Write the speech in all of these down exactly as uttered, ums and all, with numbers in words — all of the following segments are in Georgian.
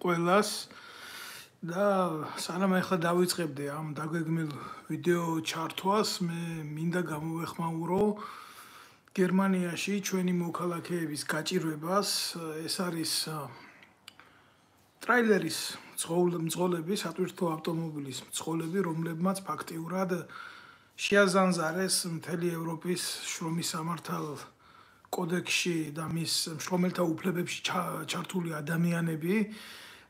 ყველას და სანამ ახლა დავიწყებდე ამ დაგვეგმილ ვიდეო ჩართვას, მე მინდა გამოვეხმაურო გერმანიაში ჩვენი მოქალაქეების გაჭირვებას. ეს არის ტრეილერის მძღოლები, სატვირთო ავტომობილის მძღოლები, რომლებმაც ფაქტიურად შეაზანზარეს მთელი ევროპის შრომის სამართალ კოდექსში და მის მშრომელთა უფლებებში ჩართული ადამიანები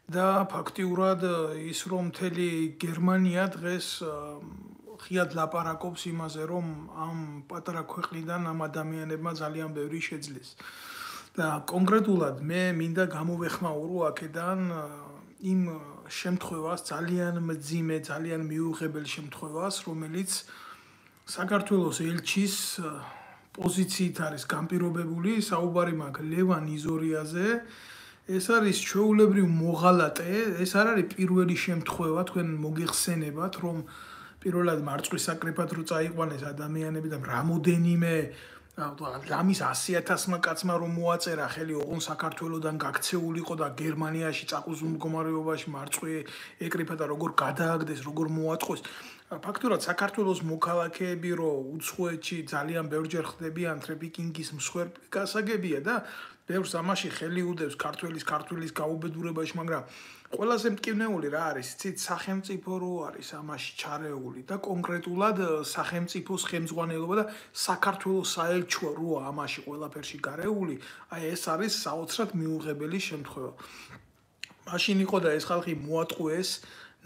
და ფაქტიურად ის რომ მთელი გერმანია დღეს ხიად ლაპარაკობს იმაზე, რომ ამ პატარა ქვეყნიდან ამ ადამიანებმა ძალიან ბევრი შეძლეს. და კონკრეტულად მე მინდა გამოვეხმაურო აქედან იმ შემთხვევას, ძალიან მძიმე, ძალიან მიუღებელ შემთხვევას, რომელიც საქართველოს ელჩის პოზიციით არის განპირობებული, საუბარი მაქვს ლევან იზორიაზე. ეს არის ჩვეულებრივ მოღალატე, ეს არ არის პირველი შემთხვევა, თქვენ მოგეხსენებათ, რომ პირველად მარწყვისაკრებად რო წაიყვანეს ადამიანები და რამოდენიმე ამის ასი ათასმა კაცმა რომ მოაწერა ხელი, ოღონ საქართველოსდან გაქცეულიყო და გერმანიაში წაყუზულ მდგომარეობაში მარწყვი ეკრიფა და როგორ გადააგდეს, როგორ მოაწყვეს. ფაქტურად საქართველოს მოქალაქეები რო უცხოეთში ძალიან ბევრჯერ ხდებიან ტრაფიკინგის მსხვერპლი გასაგებია და ბევრს ამაში ხელი უდევს ქართველის ქართველის გაუბედურებაში, მაგრამ ყველაზე მტკივნეული რა არის, ცით სახელმწიფო რო არის ამაში ჩარეული და კონკრეტულად სახელმწიფოს ხელმძღვანელობა და საქართველოს საელჩო როა ამაში ყველაფერში გარეული, აი ეს არის საოცრად მიუღებელი შემთხვევა. მაშინ იყო და ეს ხალხი მოატყუეს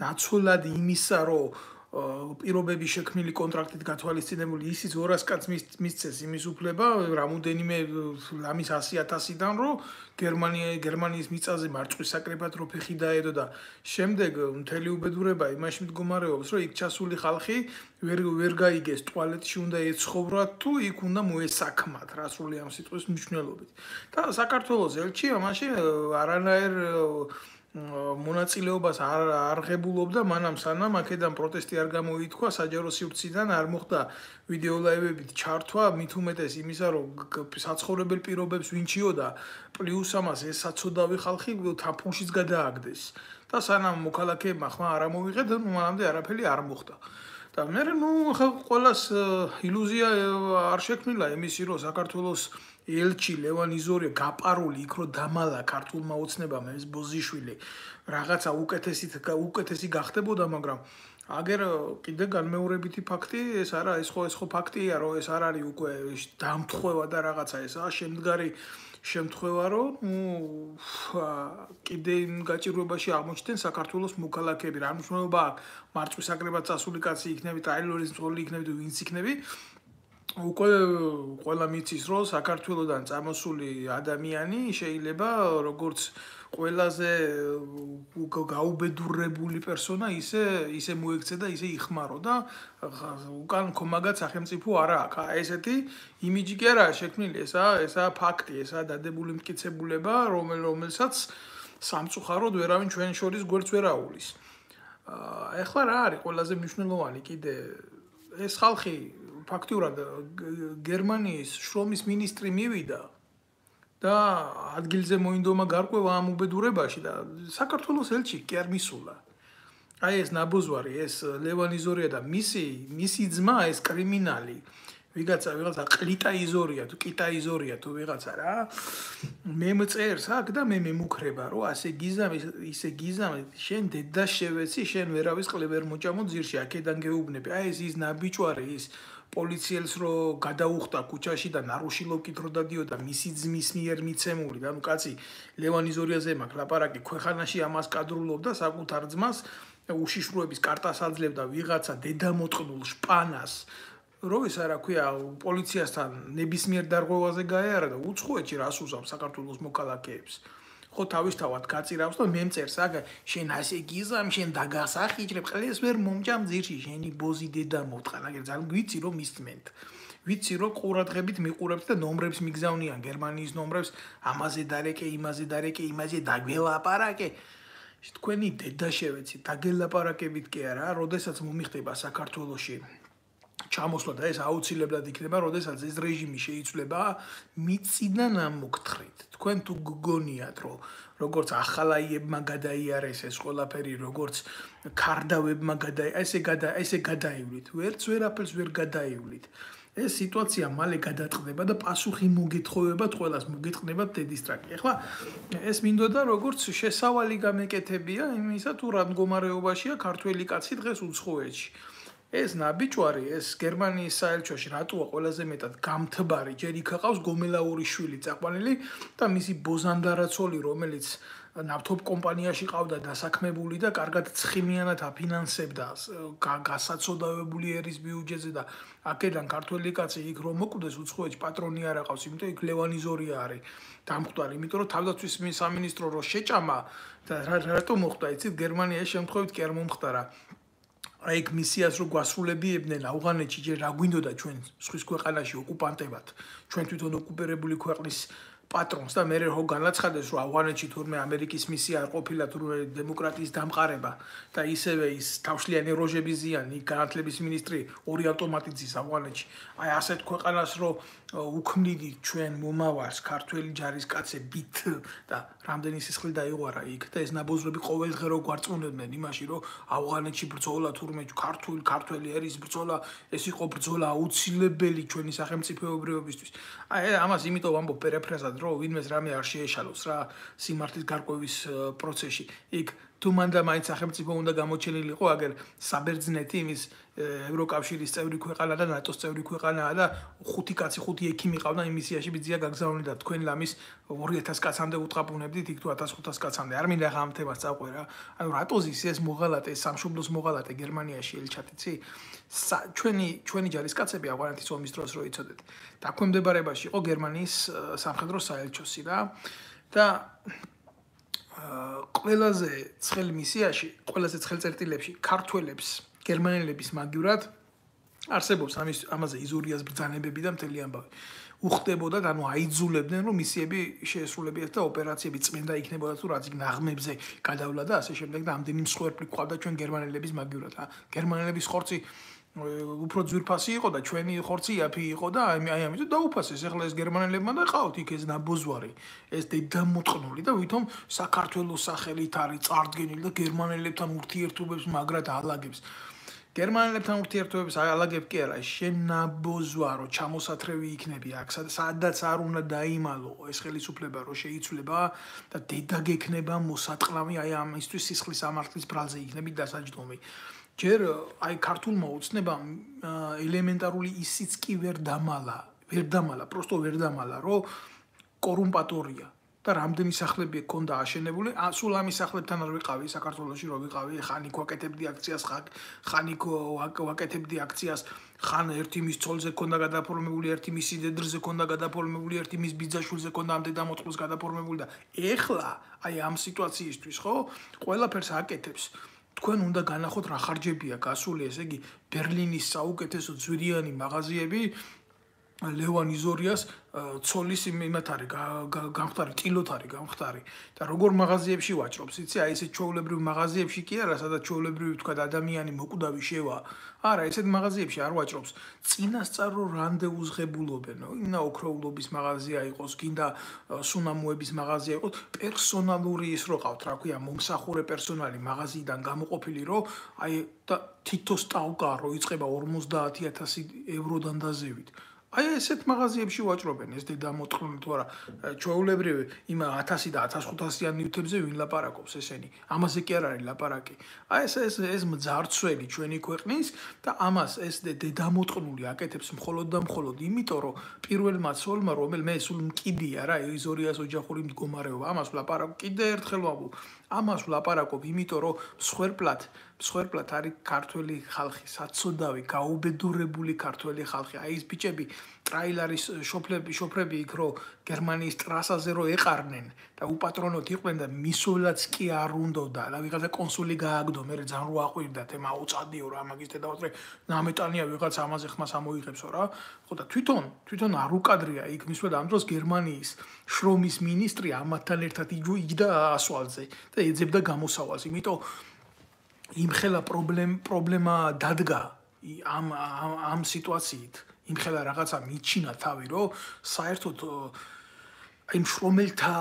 ნაცვლად იმისა, რომ პირობები შექმნილი კონტრაქტით გათვალისწინებული ისიც ორას კაც მისცეს იმის უფლება, რამოდენიმე ამის ასი ათასიდან რომ გერმანია გერმანიის მიწაზე მარწყვისაკრებად რო ფეხი დაედო და შემდეგ მთელი უბედურება იმაში მდგომარეობს, რომ იქ ჩასული ხალხი ვერ ვერ გაიგეს ტუალეტში უნდა ეცხოვრათ თუ იქ უნდა მოესაქმათ, რა სრული ამ სიტყვის მნიშვნელობით. და საქართველოს ელჩი ამაში არანაირ მონაწილეობას არ არღებულობდა მანამ სანამ აქედან პროტესტი არ გამოითქვა, საჯარო სივრციდან არ მოხდა ვიდეო ლაივებით ჩართვა, მით უმეტეს იმისა, რომ საცხოვრებელ პირობებს ვინჩიოდა, პლუს ამას ეს საცოდავი ხალხი თაფონშიც გადააგდეს. და სანამ მოქალაქეებმა ხმა არ ამოვიღეთ, მანამდე არაფერი არ მოხდა. და მე ნუ ყველას ილუზია არ შექმნილა იმისი, რომ საქართველოს ელჩი ლევან იზორია გაპარული იქ რო დამალა ქართულმა ოცნებამ ეს ბოზიშვილი რაღაცა უკეთესი უკეთესი გახდებოდა, მაგრამ აგერ კიდე განმეორებითი ფაქტი ეს არა, ეს ხო ეს ხო ფაქტია, რომ ეს არ არის უკვე დამთხვევა და რაღაცა ესაა შემდგარი შემთხვევა, რომ კიდე იმ გაჭირვებაში აღმოჩნდნენ საქართველოს მოქალაქეები. რა მნიშვნელობა აქვს მარწყვისაკრებად წასული კაცი იქნები, ტრეილერის მძღოლი იქნები თუ ვინც იქნები. უკვე ყველა მიცის, რომ საქართველოსდან წამოსული ადამიანი შეიძლება როგორც ყველაზე გაუბედურებული პერსონა ისე ისე მოექცე და ისე იხმარო და უკან კომაგაც სახელმწიფო არა აქვს. ესეთი იმიჯი კი არა შექმნილი, ესაა ესაა ფაქტი, ესაა დადებული მტკიცებულება, რომელსაც სამწუხაროდ ვერავინ ჩვენ შორის გვერდს ვერ აულის. ეხლა რა არის ყველაზე მნიშვნელოვანი კიდე ეს ხალხი ფაქტურად გერმანიის შრომის მინისტრი მივიდა და ადგილზე მოინდომა გარკვევა ამ უბედურებაში და საქართველოს ელჩი კი არ მისულა. აი ეს ნაბოძვარი, ეს ლევან იზორია და მისი მისი ძმა, ეს კრიმინალი, ვიღაცა ვიღაცა ყლიტა იზორია თუ კიტა იზორია თუ ვიღაცა რა, მე მწერს აქ და მე მემუქრება, რომ ასე გიზამ ისე გიზამ, შენ დედა შევეცი, შენ ვერავის ყლე ვერ მოჭამო ძირში, აქედან გეუბნები. აი ეს ის ნაბიჭვარი, ის პოლიციელს რო გადაუხდა ქუჩაში და ნარუშილოვკით რო დადიოდა მისი ძმის მიერ მიცემული და ნუ კაცი ლევან იზორიაზე მაქვს ლაპარაკი, ქვეყანაში ამას კადრულობდა საკუთარ ძმას უშიშროების კარტას აძლევდა ვიღაცა დედამოწყნულ შპანას, რომ ეს არა ქვია პოლიციასთან ნებისმიერ დარღვევაზე გაეარა და უცხოეთში რას უზავს საქართველოს მოქალაქეებს. ხო თავისთავად გაწირავს და მე მწერს აქ შენ ასე გიზამ, შენ დაგასახიჭრებ, ყლეს ვერ მომჭამ ძირში, შენი ბოზი დედა მოტყა, მაგრამ ძალიან ვიცი რომ მისმენთ. ვიცი რომ ყურადღებით მიყურებთ და ნომრებს მიგზავნიან გერმანიის ნომრებს, ამაზე დარეკე, იმაზე დარეკე, იმაზე დაგველაპარაკე. თქვენი დედა შევეცი, დაგელაპარაკებით კი არა, როდესაც მომიხდება საქართველოში ჩამოსვლა და ეს აუცილებლად იქნება, როდესაც ეს რეჟიმი შეიცვლება მიწიდან ამოგთხრით. თქვენ თუ გგონიათ, რომ როგორც ახალაიებმა გადაიარეს ეს ყველაფერი, როგორც ქარდავებმა გადაი, ესე გადა ესე გადაივლით. ვერც ვერაფერს ვერ გადაივლით. ეს სიტუაცია მალე გადაწყდება და პასუხი მოგეთხოვებათ ყველას, მოგეთყნებათ დედისტრაკი. ეხლა ეს მინდოდა როგორც შესავალი გამეკეთებია იმისა თუ რა მდგომარეობაშია ქართველი კაცი დღეს უცხოეთში. ეს ნაბიჯვარი, ეს გერმანიის საელჩოში რატოა ყველაზე მეტად გამთბარი, ჯერ იქ ყავს გომელაური შვილი წაყვანილი და მისი ბოზანდარაცოლი, რომელიც ნავთობ კომპანიაში ყავდა დასაქმებული და კარგად ცხიმიანად აფინანსებდა გასაცოდავებული ერის ბიუჯეტზე და აქედან ქართველი კაცი იქ რომ მოკვდეს უცხოეთში პატრონი არ აყავს, იმიტომ იქ ლევანი ზორია არის დამხვდარი, იმიტომ რომ თავდაცვის სამინისტრო რო შეჭამა და რატო მოხდა, იცით, გერმანიაში შემთხვევით კი არ მომხდარა. აი ეგ მისიას რო გვასრულებიებდნენ ავღანეთში ჯერ რა გვინდოდა ჩვენ სხვის ქვეყანაში ოკუპანტებად, ჩვენ თვითონ ოკუპირებული ქვეყნის პატრონს და მე რო განაცხადეს რომ ავღანეთში თურმე ამერიკის მისია არ ყოფილა თურმე დემოკრატიის დამყარება და ისევე ის თავშლიანი როჟები ზიანი განათლების მინისტრი ორი ავტომატი ძის ავღანეთში. აი ასეთ ქვეყანას რო უქმნიდი ჩვენ მომავალს ქართველი ჯარისკაცებით და რამდენი სისხლი დაიღვარა იქ და ეს ნაბოზრები ყოველდღე რო გვარწმუნებდნენ იმაში რომ ავღანეთში ბრძოლა თურმე ქართული ქართველი ერის ბრძოლა ეს იყო ბრძოლა აუცილებელი ჩვენი სახელმწიფოებრიობისთვის. აი ამას იმიტომ ვამბობ პერიფრაზად რომ ვინმეს რამე არ შეეშალოს რა სიმართლის გარკვევის პროცესში. იქ თუ მანდა მაინც სახელმწიფო უნდა გამოჩენილიყო აგერ საბერძნეთი იმის ევროკავშირის წევრი ქვეყანა და ნატოს წევრი ქვეყანაა და ხუთი კაცი ხუთი ექიმი ყავდა იმ მისიაში ბიძია გაგზავნილი და თქვენ ლამის ორი ათას კაცამდე უთყაპუნებდით იქ თუ ათას ხუთას კაცამდე არ მინდა ხა ამ თემას წავყვე რა. ანუ რატო ზის ეს მოღალატე სამშობლოს მოღალატე გერმანიაში ელჩათიცი ჩვენი ჩვენი ჯარისკაცები ავღანეთის ომის დროს რო იცოდეთ დაქვემდებარებაში იყო გერმანიის სამხედრო საელჩოსი რა და ყველაზე ცხელ მისიაში, ყველაზე ცხელ წერტილებში ქართველებს, გერმანელების მაგივრად არსებობს ამის ამაზე იზურიას ბრძანებები და მთელი ამბავი. უხდებოდათ, ანუ აიძულებდნენ, რომ მისიები შეესრულებიათ და ოპერაციები წმენდა იქნებოდა თუ რაც იქ ნაღმებზე გადავლა და ასე შემდეგ და ამდენი მსხვერპლი ყავდა ჩვენ გერმანელების მაგივრად. გერმანელების ხორცი უფრო ძვირფასი იყო და ჩვენი ხორცი იაფი იყო და აი ამიტომ დაუფასეს. ეხლა ეს გერმანელებმა და ყავთ იქ ეს ნაბოძვარი, ეს დედამოწყნული და ვითომ საქართველოს სახელით არის წარდგენილი და გერმანელებთან ურთიერთობებს მაგრად ალაგებს. გერმანელებთან ურთიერთობებს ალაგებ კი არა, შენ ნაბოძვარო ჩამოსათრევი იქნები აქ, სადაც არ უნდა დაიმალო ეს ხელისუფლება რო შეიცვლება და დედა გექნება მოსატყლავი აი ამისთვის სისხლის ამართლის ბრალზე იქნები დასაჯდომი. ჯერ აი ქართულმა უცნებამ ელემენტარული ისიც კი ვერ დამალა, ვერ დამალა, პროსტო ვერ დამალა, რომ კორუმპატორია და რამდენი სახლები ჰქონდა აშენებული, სულ ამის სახლებთან არ ვიყავი საქართველოში რო ვიყავი, ხან იქ ვაკეთებდი აქციას, ხან იქ ვაკეთებდი აქციას, ხან ერთი მის ცოლზე ჰქონდა გადაფორმებული, ერთი მის სიდედრზე ჰქონდა გადაფორმებული, ერთი მის ბიძაშვილზე ჰქონდა ამ დედამოწყვილს გადაფორმებული და ეხლა აი ამ სიტუაციისთვის ხო ყველაფერს აკეთებს. თქვენ უნდა განახოთ რა ხარჯებია გასული, ესე იგი ბერლინის საუკეთესო ძვირიანი მაღაზიები ლევან იზორიას ცოლის იმათ არის გამხდარი, ტილოთ არის გამხდარი და როგორ მაღაზიებში ვაჭრობს, იცი, აი ესე ჩვეულებრივ მაღაზიებში კი არა, სადაც ჩვეულებრივი თქვა ადამიანი მოკვდავი შევა. არა, ესეთ მაღაზიებში არ ვაჭრობს. წინასწარო რანდევუს ღებულობენ. ინა ოქროულობის მაღაზია იყოს, გინდა სუნამოების მაღაზია იყოს, პერსონალური ის რო ყავთ, რა ქვია, მომსახურე პერსონალი მაღაზიიდან გამოყოფილი, რომ აი და თითო სტავკა რო იწყება ორმოცდაათი ათასი ევროდან დაზევით. აი ესეთ მაღაზიებში ვაჭრობენ ეს დედამოწყნული თუ არა ჩვეულებრივი იმ ათასი და ათას ხუთასიან ნივთებზე ვინ ლაპარაკობს ესენი ამაზე კი არ არის ლაპარაკი აი ეს ეს ეს მძარცველი ჩვენი ქვეყნის და ამას ეს დედამოწყნული აკეთებს მხოლოდ და მხოლოდ იმიტომ რომ პირველმა ცოლმა რომელმე სულ მკიდია რა იზორიას ოჯახური მდგომარეობა ამას ვლაპარაკობ კიდე ერთხელ ვამბობ ამას ვლაპარაკობ იმიტომ რომ მსხვერპლად მსხვერპლად არის ქართველი ხალხი საცოდავი გაუბედურებული ქართველი ხალხი აი ეს ბიჭები ტრაილარის შოფლები შოფრები იქ რო გერმანიის ტრასაზე რო ეყარნენ და უპატრონოთ იყვნენ და მისულაც კი არ უნდოდა და ვიღაცა კონსული გააგდო მე ძალიან რო აყვირდა თემა უწადიო რა მაგის დედავატრე ნამეტანია ვიღაც ამაზე ხმას ამოიღებსო რა ხო და თვითონ თვითონ არ უკადრია იქ მისვლა ამ დროს გერმანიის შრომის მინისტრი ამათთან ერთად იჯდა ასვალზე და ეძებდა გამოსავალს იმიტომ იმ ხელა პრობლემა პრობლემა დადგა ამ ამ სიტუაციით იმხელა რაღაცა მიჩინა თავი, რომ საერთოდ იმ შრომელთა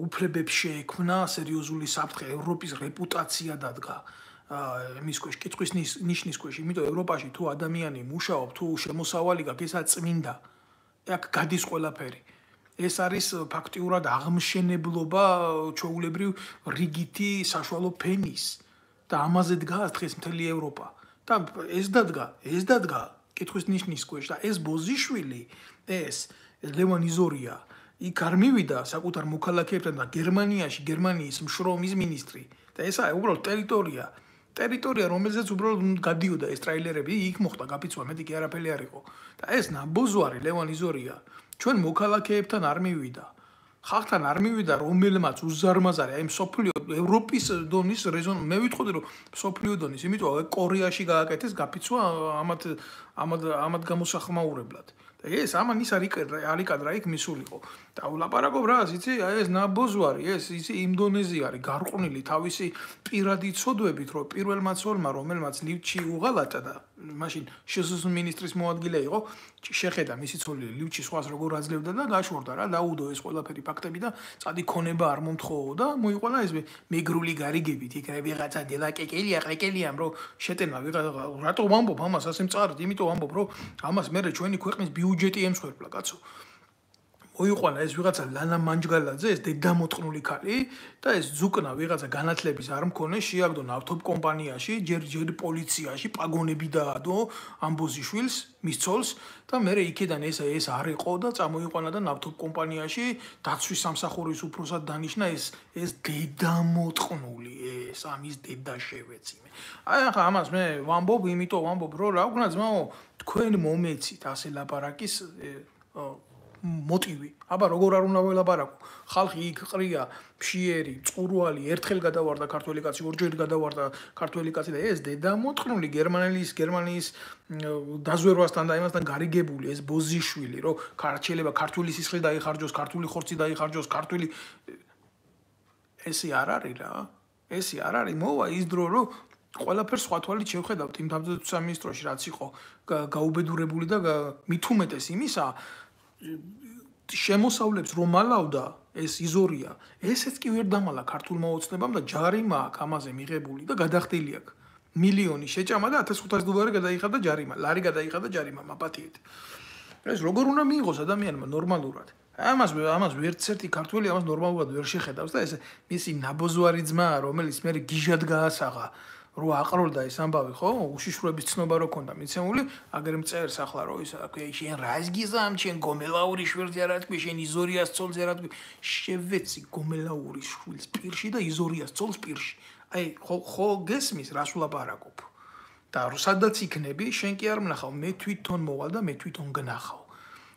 უფლებებს შეექმნა სერიოზული საფრთხე, ევროპის რეპუტაცია დადგა მის ქვეშ, კითხვის ნიშნის ქვეშ, იმიტომ ევროპაში თუ ადამიანი მუშაობ, თუ შემოსავალი გაქვს, ესა წმინდა. აქ გადის ყველაფერი. ეს არის ფაქტიურად აღმშენებლობა ჩვეულებრივ რიგითი საშუალო ფენის და ამაზე დგას დღეს მთელი ევროპა. და ეს დადგა, ეს დადგა კითხვის ნიშნის ქვეშ და ეს ბოზიშვილი, ეს ლევან იზორია იქ არ მივიდა საკუთარ მოქალაქეებთან და გერმანიაში გერმანიის მშრომის მინისტრი და ესაა უბრალოდ ტერიტორია ტერიტორია რომელზეც უბრალოდ გადიოდა ეს ტრაილერები იქ მოხდა გაფიცვა მეტი კი არაფერი არ იყო და ეს ნაბოზვარი ლევან იზორია ჩვენ მოქალაქეებთან არ მივიდა ხალხთან არ მივიდა რომელმაც უზარმაზარი აი მსოფლიო ევროპის დონის რეზონ მე ვიტყოდი რომ მსოფლიო დონის იმიტომ კორეაში გააკეთეს გაფიცვა ამათ ამათ ამათ გამოსახმაურებლად ეს ამან ის არიკადრა იქ მისულიყო და ვლაპარაკობ რა იცი აი ეს ნაბოზვარი ეს იცი იმდონეზი არის გარყვნილი თავისი პირადი ცოდვებით რომ პირველმა ცოლმა რომელმაც ლივჩი უღალატა და მაშინ შეზუს მინისტრის მოადგილე იყო შეხედა მისი ცოლი ლივჩი სხვას როგორ აძლევდა და გაშორდა რა დაუდო ეს ყველაფერი ფაქტები და წადი ქონება არ მომთხოვო და მოიყვანა ეს მეგრული გარიგებით იქ ვიღაცა დელაკეკელია ყეკელია რომ შეტენა ვიღაცა რატო ვამბობ ამას ასე მწარად იმიტომ ვამბობ რომ ამას მე ჩვენი ქვეყნის ბიუჯეტი ემსხვერპლა კაცო მოიყვანა ეს ვიღაცა ლანა მანჯგალაძე ეს დედამოწყნული ქალი და ეს ზუკნა ვიღაცა განათლების არ მქონე შეაგდო ნავთობ კომპანიაში ჯერ ჯერ პოლიციაში პაგონები დაადო ამბოზიშვილს მის ცოლს და მე იქიდან ეს ეს არ იყო და წამოიყვანა და ნავთობ კომპანიაში დაცვის სამსახურის უფროსად დანიშნა ეს ეს დედამოწყნული ეს ამის დედა შევეციმე აი ახლა ამას მე ვამბობ იმიტომ ვამბობ რომ რა ვქნა ძმაო თქვენ მომეცით ასე ლაპარაკის მოტივი. აბა როგორ არ უნდა ველაპარაკო. ხალხი იქ ყრია, ფშიერი, წყურვალი, ერთხელ გადავარდა ქართველი კაცი, ორჯერ გადავარდა ქართველი კაცი და ეს დედამოწყნული გერმანიის გერმანიის დაზვერვასთან და იმასთან გარიგებული ეს ბოზიშვილი, რომ ქართლება ქართული სისხლი დაიხარჯოს, ქართული ხორცი დაიხარჯოს, ქართული ესე არ არის რა. ესე არ არის. მოვა ის დრო რომ ყველაფერს სხვა თვალით შევხედავთ იმ თავდაცვის სამინისტროში რაც იყო გაუბედურებული და მით უმეტეს იმისა შემოსავლებს რომ ალავდა ეს იზორია ესეც კი ვერ დამალა ქართულმა ოცნებამ და ჯარიმა აქ ამაზე მიღებული და გადახდილი აქ მილიონი შეჭამა და ათას ხუთას დოლარი გადაიხადა ჯარიმა ლარი გადაიხადა ჯარიმა მაპატიეთ ეს როგორ უნდა მიიღოს ადამიანმა ნორმალურად ამას ამას ვერცერთი ქართველი ამას ნორმალურად ვერ შეხედავს და ეს მისი ნაბოზვარი ძმა რომელიც მე გიჟად გაასაღა რო აყროლდა ეს ამბავი ხო უშიშროების ცნობა რო ქონდა მიცემული აგერ მწერს ახლა რო ის შენ რას გიზამ შენ გომელაური შვილი არა თქვი შენ იზორიას ცოლს არა თქვი შევეცი გომელაური შვილს პირში და იზორიას ცოლს პირში აი ხო ხო გესმის რას ვლაპარაკობ და სადაც იქნები შენ კი არ მნახავ მე თვითონ მოვალ და მე თვითონ გნახავ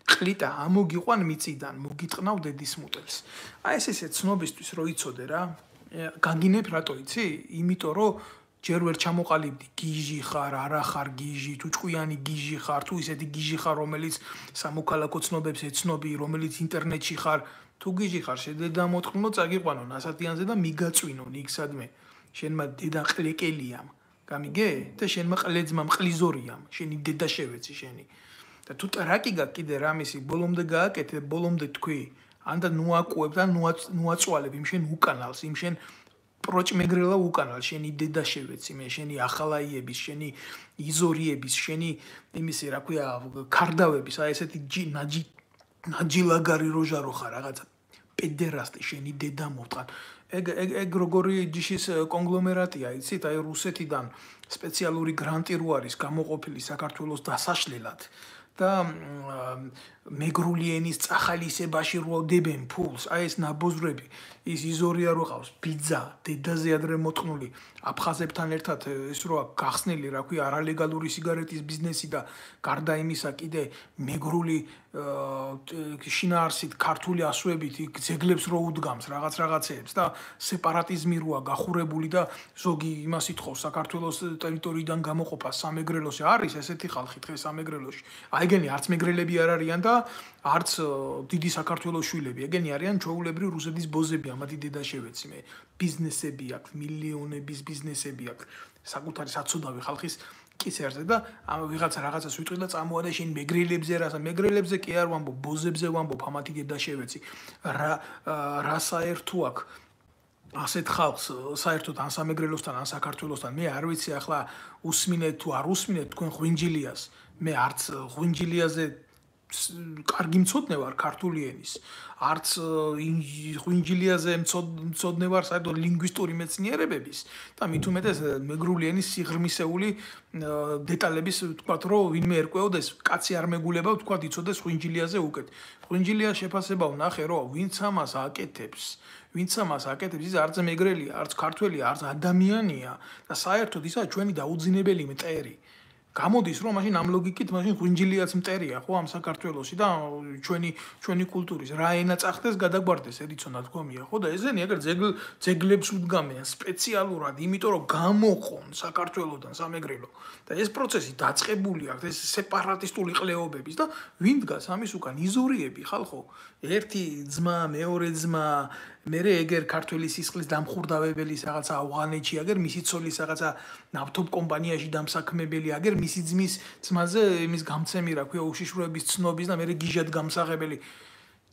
ყლიტა ამოგიყვან მიწიდან მოგიტყნავ დედის მუტელს აი ეს ესე ცნობისთვის რო იცოდე რა გაგინებ რატო იცი იმიტომ რომ ჯერ ვერ ჩამოყალიბდი გიჟი ხარ, არა ხარ გიჟი, თუ ჭკვიანი გიჟი ხარ, თუ ისეთი გიჟი ხარ, რომელიც სამოქალაქო ცნობებს ეცნობი, რომელიც ინტერნეტში ხარ, თუ გიჟი ხარ, შედედამოწყნო წაგიყვანონ ასათიანზე და მიგაწვინონ იქ სადმე. შენმა დედა ყლეკელიამ, გამიგე? და შენმა ყლეძმა მყლიზორიამ, შენი დედა შევეცი შენი. და თუ ტრაკი გაქვს კიდე რამისი, ბოლომდე გააკეთე, ბოლომდე თქვი, ანდა ნუაკუებ და ნუაწვალებ იმ შენ უკანალს, იმ შენ პროჭმეგრელა უკანალ შენი დედა შევეცი მე შენი ახალაიების შენი იზორიების შენი იმისი რა ქვია ქარდავების აი ესეთი ნაჯი ნაჯილაგარი როჟარო ხარ რაღაცა პედერასტი შენი დედა მოტყან ეგ ეგ ეგ როგორი ჯიშის კონგლომერატია იცით აი რუსეთიდან სპეციალური გრანტი რო არის გამოყოფილი საქართველოს დასაშლელად და მეგრული ენის წახალისებაში რო დებენ ფულს აი ეს ნაბოზრები ის იზორია რო ყავს ბიძა დედაზე ადრე მოწყნული აფხაზებთან ერთად ეს როა გახსნილი რა ქვია არალეგალური სიგარეტის ბიზნესი და გარდა იმისა კიდე მეგრული შინაარსით ქართული ასოებით იქ ძეგლებს რო უდგამს რაღაც რაღაცეებს და სეპარატიზმი როა გახურებული და ზოგი იმას ითხოვს საქართველოს ტერიტორიიდან გამოყოფა სამეგრელოში არის ესეთი ხალხი დღეს სამეგრელოში აი ეგენი არც მეგრელები არ არიან და არც დიდი საქართველოს შვილები ეგენი არიან ჩვეულებრივი რუსეთის ბოზები ამათი დედა შევეცი მე ბიზნესები აქვს მილიონების ბიზნესები აქვს საკუთარი საცოდავი ხალხის კისერზე და ამ ვიღაცა რაღაცას ვიტყვი და წამოადა შენ მეგრელებზე რასა მეგრელებზე კი არ ვამბობ ბოზებზე ვამბობ ამათი გედაშევეცი რა რა საერთო აქვს ასეთ ხალხს საერთოდ ან სამეგრელოსთან ან საქართველოსთან მე არ ვიცი ახლა უსმინეთ თუ არ უსმინეთ თქვენ ღვინჯილიას მე არც ღვინჯილიაზე კარგი მცოდნე ვარ ქართული ენის არც ღვინჯილიაზე მცოდნე ვარ საერთოდ ლინგვისტური მეცნიერებების და მით უმეტეს მეგრული ენის სიღრმისეული დეტალების ვთქვათ რომ ვინმე ერკვეოდეს კაცი არ მეგულება ვთქვათ იცოდეს ღვინჯილიაზე უკეთ ღვინჯილიას შეფასება ვნახე რომ ვინც ამას აკეთებს ვინც ამას აკეთებს ის არც მეგრელია არც ქართველია არც ადამიანია და საერთოდ ისა ჩვენი დაუძინებელი მტერი გამოდის რომ მაშინ ამ ლოგიკით მაშინ ღვინჯილიაც მტერია ხო ამ საქართველოსი და ჩვენი ჩვენი კულტურის რა ენა წახდეს გადაგვარდეს ედიცონა თქომია ხო და ესენი ეგრე ძეგლ ძეგლებს უდგამიან სპეციალურად იმიტომ რომ გამოყონ საქართველოსთან სამეგრელო და ეს პროცესი დაწყებული აქვს ეს სეპარატისტული ყლეობების და ვინ დგას ამის უკან იზორიები ხალხო ერთი ძმა მეორე ძმა მერე ეგერ ქართველი სისხლის დამხურდავებელი რაღაცა ავღანეთში აგერ მისი ცოლის რაღაცა ნავთობ კომპანიაში დამსაქმებელი აგერ მისი ძმის ძმაზე იმის გამცემი რა ქვია უშიშროების ცნობის და მერე გიჟად გამსაღებელი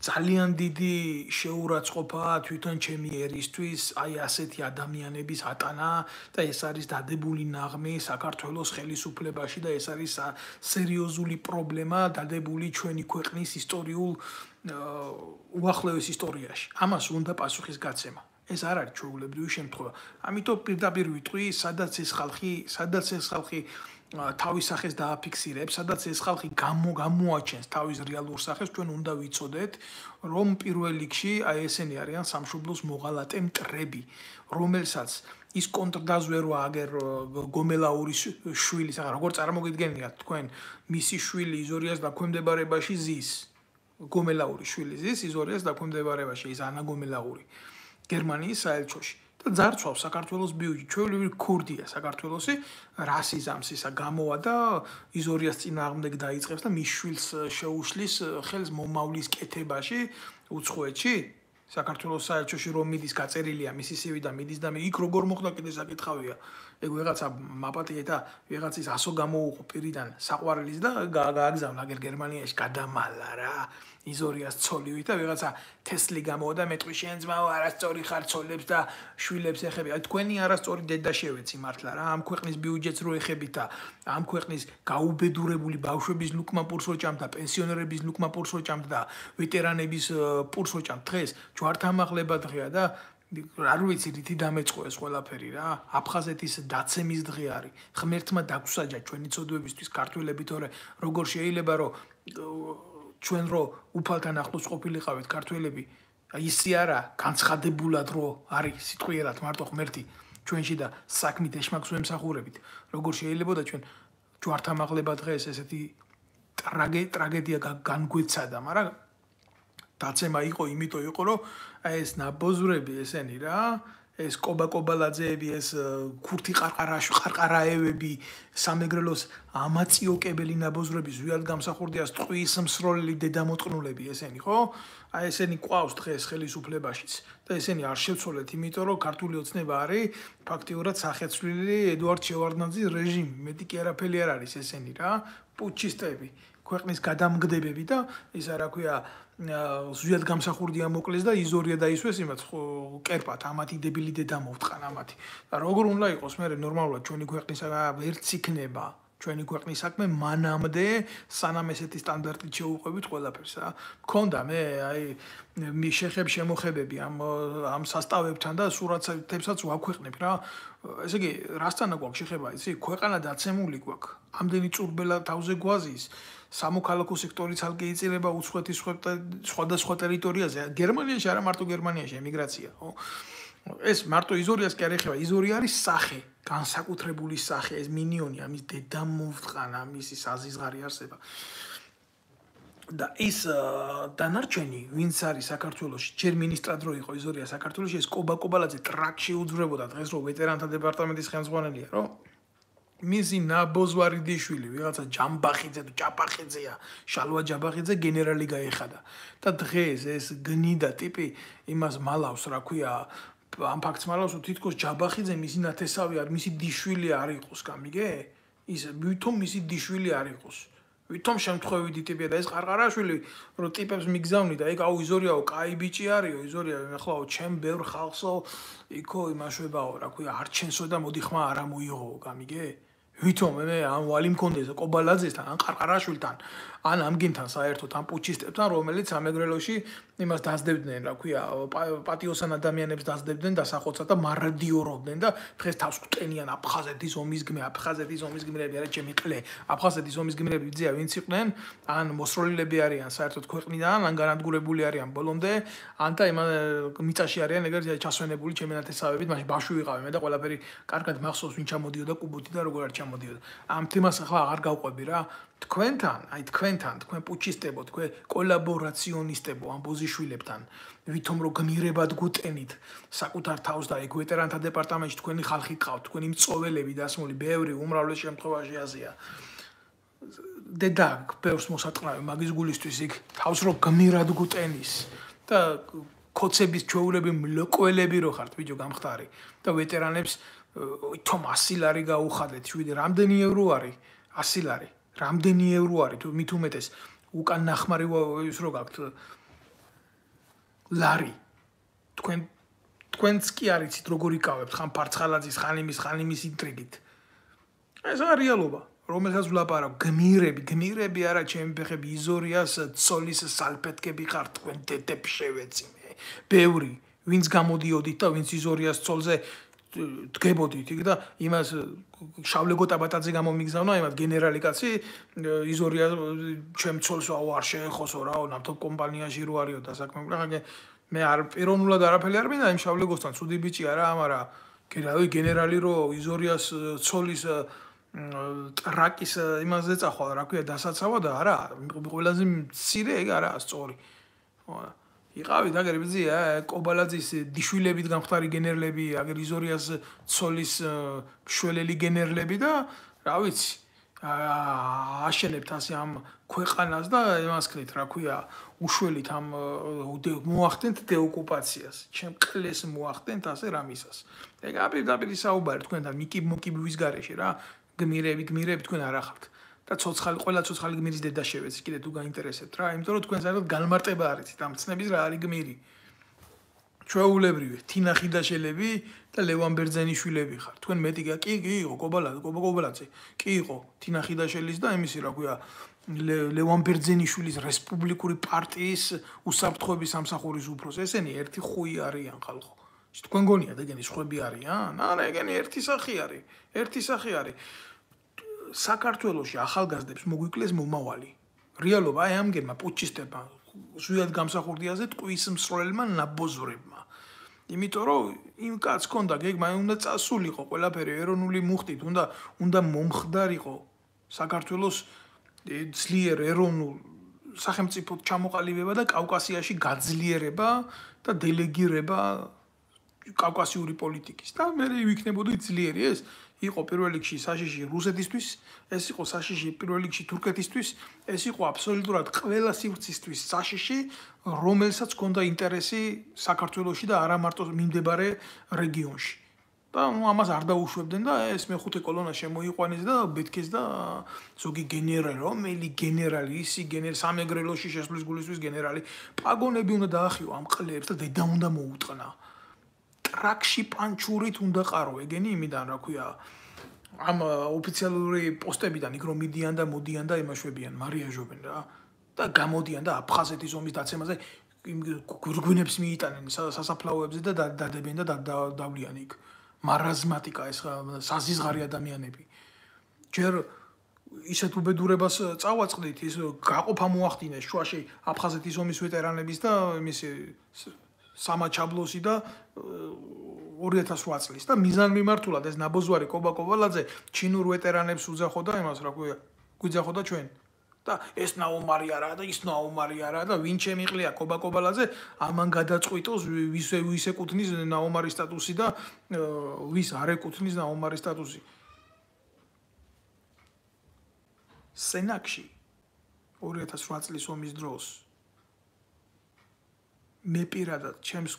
ძალიან დიდი შეურაცხყოფაა თვითონ ჩემი ერისთვის აი ასეთი ადამიანების ატანა და ეს არის დადებული ნაღმი საქართველოს ხელისუფლებაში და ეს არის სერიოზული პრობლემა დადებული ჩვენი ქვეყნის ისტორიულ უახლოეს ისტორიაში ამას უნდა პასუხის გაცემა ეს არ არის ჩვეულებრივი შემთხვევა ამიტომ პირდაპირ ვიტყვი სადაც ეს ხალხი სადაც ეს ხალხი თავის სახეს დააფიქსირებს, სადაც ეს ხალხი გამოაჩენს თავის რეალურ სახეს, ჩვენ უნდა ვიცოდეთ, რომ პირველ რიგში აი ესენი არიან სამშობლოს მოღალატე მტრები, რომელსაც ის კონტრდაზვე რო აგერ გომელაურის შვილის, აღარ როგორ წარმოგიდგენიათ თქვენ, მისი შვილი იზორიას დაქვემდებარებაში ზის. გომელაურის შვილი ზის იზორიას დაქვემდებარებაში, ის ანა გომელაური. გერმანიის საელჩოში. ძარცვავს საქართველოს ბიუჯეტი, ჩვეულებრივი ქურდია საქართველოსი, რასიზმს ისა გამოვა და იზორიას წინააღმდეგ დაიწყებს და მის შვილს შეუშლის ხელს მომავლის კეთებაში უცხოეთში, საქართველოს საელჩოში რომ მიდის გაწერილია მისი სივი და მიდის და იქ როგორ მოხდა კიდე საკითხავია. ეგ ვიღაცა მაპატია და ვიღაცის ასო გამოუყო პირიდან საყვარელის და გააგზავნა აგერ გერმანიაში გადამალა რა. იზორიას ცოლივი და ვიღაცა თესლი გამოვა და მეტყვი შენ ძმაო არასწორი ხარ ცოლებს და შვილებს ეხები. აი თქვენი არასწორი დედაშევეცი მართლა რა ამ ქვეყნის ბიუჯეტს რო ეხებით და ამ ქვეყნის გაუბედურებული ბავშვების ლუკმა პურს რო ჭამთ და პენსიონერების ლუკმა პურს რო ჭამთ და ვეტერანების პურს რო ჭამთ დღეს ჯვართამაღლება დღეა და არ ვიცი რითი დამეწყო ეს ყველაფერი რა აფხაზეთის დაცემის დღე არის ღმერთმა დაგუსაჯა ჩვენი ცოდვებისთვის ქართველები თორე როგორ შეიძლება რომ ჩვენ რო უფალთან ახლოს ყოფილიყავით ქართველები ისი არა განცხადებულად რო არის სიტყვიერად მარტო ღმერთი ჩვენში და საქმით ეშმაკს ვემსახურებით როგორ შეიძლება და ჩვენ ჯვართამაღლება დღეს ესეთი ტრაგედია განგვეცადა მაგრამ დაცემა იყო იმიტომ იყო რომ ეს ნაბოზრები ესენი რა ეს კობა-კობალაძეები ეს ქურთი ყარყარაში ყარყარაევები სამეგრელოს ამაწიოკებელი ნაბოზრები ზვიად გამსახურდიას ტყვის მსროლელი დედამოტყნულები ესენი ხო აი ესენი ყვავს დღეს ხელისუფლებაშიც და ესენი არ შევცვალეთ იმიტომ რომ ქართული ოცნება არის ფაქტიურად სახეცვლილი ედუარდ შევარდნაძის რეჟიმი მეტი კი არაფერი არ არის ესენი რა პუჩისტები ქვეყნის გადამგდებები და ისა რა ქვია ზვიად გამსახურდია მოკლეს და იზორია დაისვეს იმათ კერპათ ამათი დებილი დედა მოვტყან ამათი და როგორ უნდა იყოს მე ნორმალურად ჩვენი ქვეყნისა ვერც იქნება ჩვენი ქვეყნის საქმე მანამდე სანამ ესეთი სტანდარტით შეუყვებით ყველაფერს რა მქონდა მე აი მე შეხებ შემოხებები ამ ამ სასტავებთან და სურათებსაც ვაქვეყნებ რა ესე იგი რასთან გვაქვს შეხება იცი ქვეყანა დაცემული გვაქვს ამდენი წურბელა თავზე გვაზის სამოქალაქო სექტორი ცალკე იწირება უცხოეთის სხვადასხვა ტერიტორიაზე გერმანიაში არა მარტო გერმანიაში ემიგრაცია ხო ეს მარტო იზორიას კი არ ეხება იზორი არის სახე განსაკუთრებული სახე ეს მინიონი ამის დედა მოვტყანა მისი საზიზღარი არსება და ის დანარჩენი ვინც არის საქართველოში ჯერ მინისტრად რო იყო იზორია საქართველოში ეს კობა-კობალაძე ტრაქში უძვრებოდა დღეს რო ვეტერანთა დეპარტამენტის ხელმძღვანელია რო მისი ნაბოძვარიძიშვილი ვიღაცა ჯამბახიძე თუ ჭაპახიძეა შალვა ჯაბახიძე გენერალი გაეხადა და დღეს ეს გნიდა ტიპი იმას მალავს რა ქვია ამ ფაქტს მალავს რომ თითქოს ჯაბახიძე მისი ნათესავი არ მისი დიშვილი არ იყოს გამიგე ის ვითომ მისი დიშვილი არ იყოს. ვითომ შემთხვევით ტიპია და ეს ყარყარაშვილი რო ტიპებს მიგზავნი და ეგ აუ იზორიაო კაი ბიჭი არისო იზორია ეხლაო ჩემ ბევრ ხალხსო იქო იმაშვებაო რა ქვია არჩენსო და მოდი ხმა არ ამოიღო გამიგე ვითომ მე ამ ვალი მქონდეს კობალაძესთან ან ყარყარაშვილთან ან ამგინთან საერთოდ ამ პუჩისტებთან რომელიც ამეგრელოში იმას დასდებდნენ რა ქვია პატიოსან ადამიანებს დასდებდნენ დასახოცად და მარადიორობდნენ და დღეს თავს ყტენიან აფხაზეთის ომის გმე აფხაზეთის ომის გმირები არა ჩემი ყლე აფხაზეთის ომის გმირები ძია ვინც იყვნენ ან მოსროლილები არიან საერთოდ ქვეყნიდან ან განადგურებული არიან ბოლომდე ან და იმ მიწაში არიან ეგრე ჩასვენებული ჩემი ნათესავებით მაშინ ბავშვი ვიყავი მე და ყველაფერი კარგად მახსოვს ვინ ჩამოდიოდა კუბოთი და როგორ არ ჩამოდიოდა ამ თემას ახლა აღარ გავყვები რა თქვენთან, აი თქვენთან, თქვენ პუჩისტებო, თქვენ კოლაბორაციონისტებო ამ ბოზიშვილებთან, ვითომ რო გმირებად გუტენით საკუთარ თავს და ეგ ვეტერანთა დეპარტამენტში თქვენი ხალხი გყავთ, თქვენი მწოველები დასმული, ბევრი უმრავლეს შემთხვევაში აზია. დედა ბევრს მოსატყნავი მაგის გულისთვის იქ თავს რო გმირად გუტენის და კოცების ჩვეულები მლოკველები რო ხართ, ბიჭო გამხდარი და ვეტერანებს ვითომ ასი ლარი გაუხადეთ, შვიდი რამდენი ევრო არის? ასი ლარი. რამდენი ევრო არის თუ მით უმეტეს უკან ნახმარი ის რო გაქვთ ლარი თქვენ თქვენც კი არიცით როგორ იკავებთ ხან ფარცხალაძის ხან იმის ხან იმის ინტრიგით ეს არის რეალობა რომელსაც ვლაპარაკ გმირები გმირები არა ჩემი ფეხები იზორიას ცოლის სალფეთკები ხართ თქვენ დედები შევეცინე ბევრი ვინც გამოდიოდით და ვინც იზორიას ცოლზე დგებოდით იქ და იმას შავლეგო ტაბატაძე გამომიგზავნა იმათ გენერალი კაცი იზორია ჩემ ცოლს აუ არ შეეხოსო რაო ნავთობ კომპანიაში რო არისო და საქმე მაგრამ მე არ პიროვნულად არაფერი არ მინდა იმ შავლეგოსთან ცუდი ბიჭი არა ამარა რავი გენერალი რო იზორიას ცოლის ტრაკის იმაზე წახვალ რა ქვია დასაცავა და არა ყველაზე მცირე ეგ არაა სწორი იყავით აგერ ბიზია კობალაძის დიშვილებით გამხდარი გენერლები აგერ იზორიას ცოლის შველელი გენერლები და რა ვიცი აშენებთ ასე ამ ქვეყანას და იმას ქნით რა ქვია უშველით ამ მოახდენთ დეოკუპაციას ჩემ კლეს მოახდენთ ასე რამისას ეგ აპირდაპირი საუბარი თქვენთან მიკი მოკიბვის გარეშე რა გმირები გმირები თქვენ არ ახართ და ცოცხალი ყველა ცოცხალი გმირის დედა შევეცი კიდე თუ გაინტერესებთ რა იმიტომ რომ თქვენ საერთოდ განმარტება არიცით ამ ცნების რა არის გმირი ჩვეულებრივი თინა ხიდაშელები და ლევან ბერძენიშვილები ხართ თქვენ მეტი კი კი იყო კობალაძე კობალაძე კი იყო თინა ხიდაშელის და იმისი რა ქვია ლევან ბერძენიშვილის რესპუბლიკური პარტიის უსაფრთხოების სამსახურის უფროსი ესენი ერთი ხუი არიან ხალხო თქვენ გონიათ ეგენი სხვები არიან არა ეგენი ერთი სახი არის ერთი სახი არის საქართველოში ახალგაზრდებს მოგვიკლეს მომავალი რეალობა აი ამგერმა პუჩისტებმა ზუსტად გამსახურდიაზე ტყვის მსროლელმა ნაბოზვრებმა იმიტომ რომ იმ კაცს ქონდა გეგმა უნდა წასულიყო ყველაფერი ეროვნული მუხტით უნდა უნდა მომხდარიყო საქართველოს ძლიერ ეროვნულ სახელმწიფოდ ჩამოყალიბება და კავკასიაში გაძლიერება და დელეგირება კავკასიური პოლიტიკის და მე ვიქნებოდი ძლიერი ეს იყო პირველ რიგში საშიში რუსეთისთვის, ეს იყო საშიში პირველ რიგში თურქეთისთვის, ეს იყო აბსოლუტურად ყველა სივრცისთვის საშიში, რომელსაც ჰქონდა ინტერესი საქართველოში და არა მარტო მიმდებარე რეგიონში. და ნუ ამას არ დაუშვებდნენ და ეს მეხუთე კოლონა შემოიყვანეს და ბეთქეს და ზოგი გენერალი, რომელი გენერალი, ისი გენერალი, სამეგრელოში შესვლის გულისთვის გენერალი, პაგონები უნდა დაახიო ამ ყლებს და დედა უნდა მოუტყნა. ტრაქში პანჩურით უნდა ყარო ეგენი იმიდან რა ქვია ამ ოფიციალური პოსტებიდან იქ რომ მიდიან და მოდიან და იმაშვებიან მარიაჟობენ რა და გამოდიან და აფხაზეთის ომის დაცემაზე გვირგვინებს მიიტანენ სასაფლაოებზე და დადებენ და დავლიან იქ მარაზმატიკა ეს საზიზღარი ადამიანები ჯერ ისეთ უბედურებას წავაწყდით ის გაყოფა მოახდინეს შუაში აფხაზეთის ომის ვეტერანების და იმისი სამაჩაბლოსი და ორი ათას ოთხ წლის და მიზანმიმართულად ეს ნაბოზვარი კობა კობალაძე ჩინურ ვეტერანებს უძახოდა იმას რა ქვია გვიძახოდა ჩვენ და ეს ნაომარი არა და ის ნაომარი არა და ვინ შემიყლია კობა კობალაძე ამან გადაწყვიტოს ვის ვის ეკუთვნის ნაომარის სტატუსი და ვის არ ეკუთვნის ნაომარის სტატუსი სენაკში ორი ათას ოთხ წლის ომის დროს მე პირადად ჩემს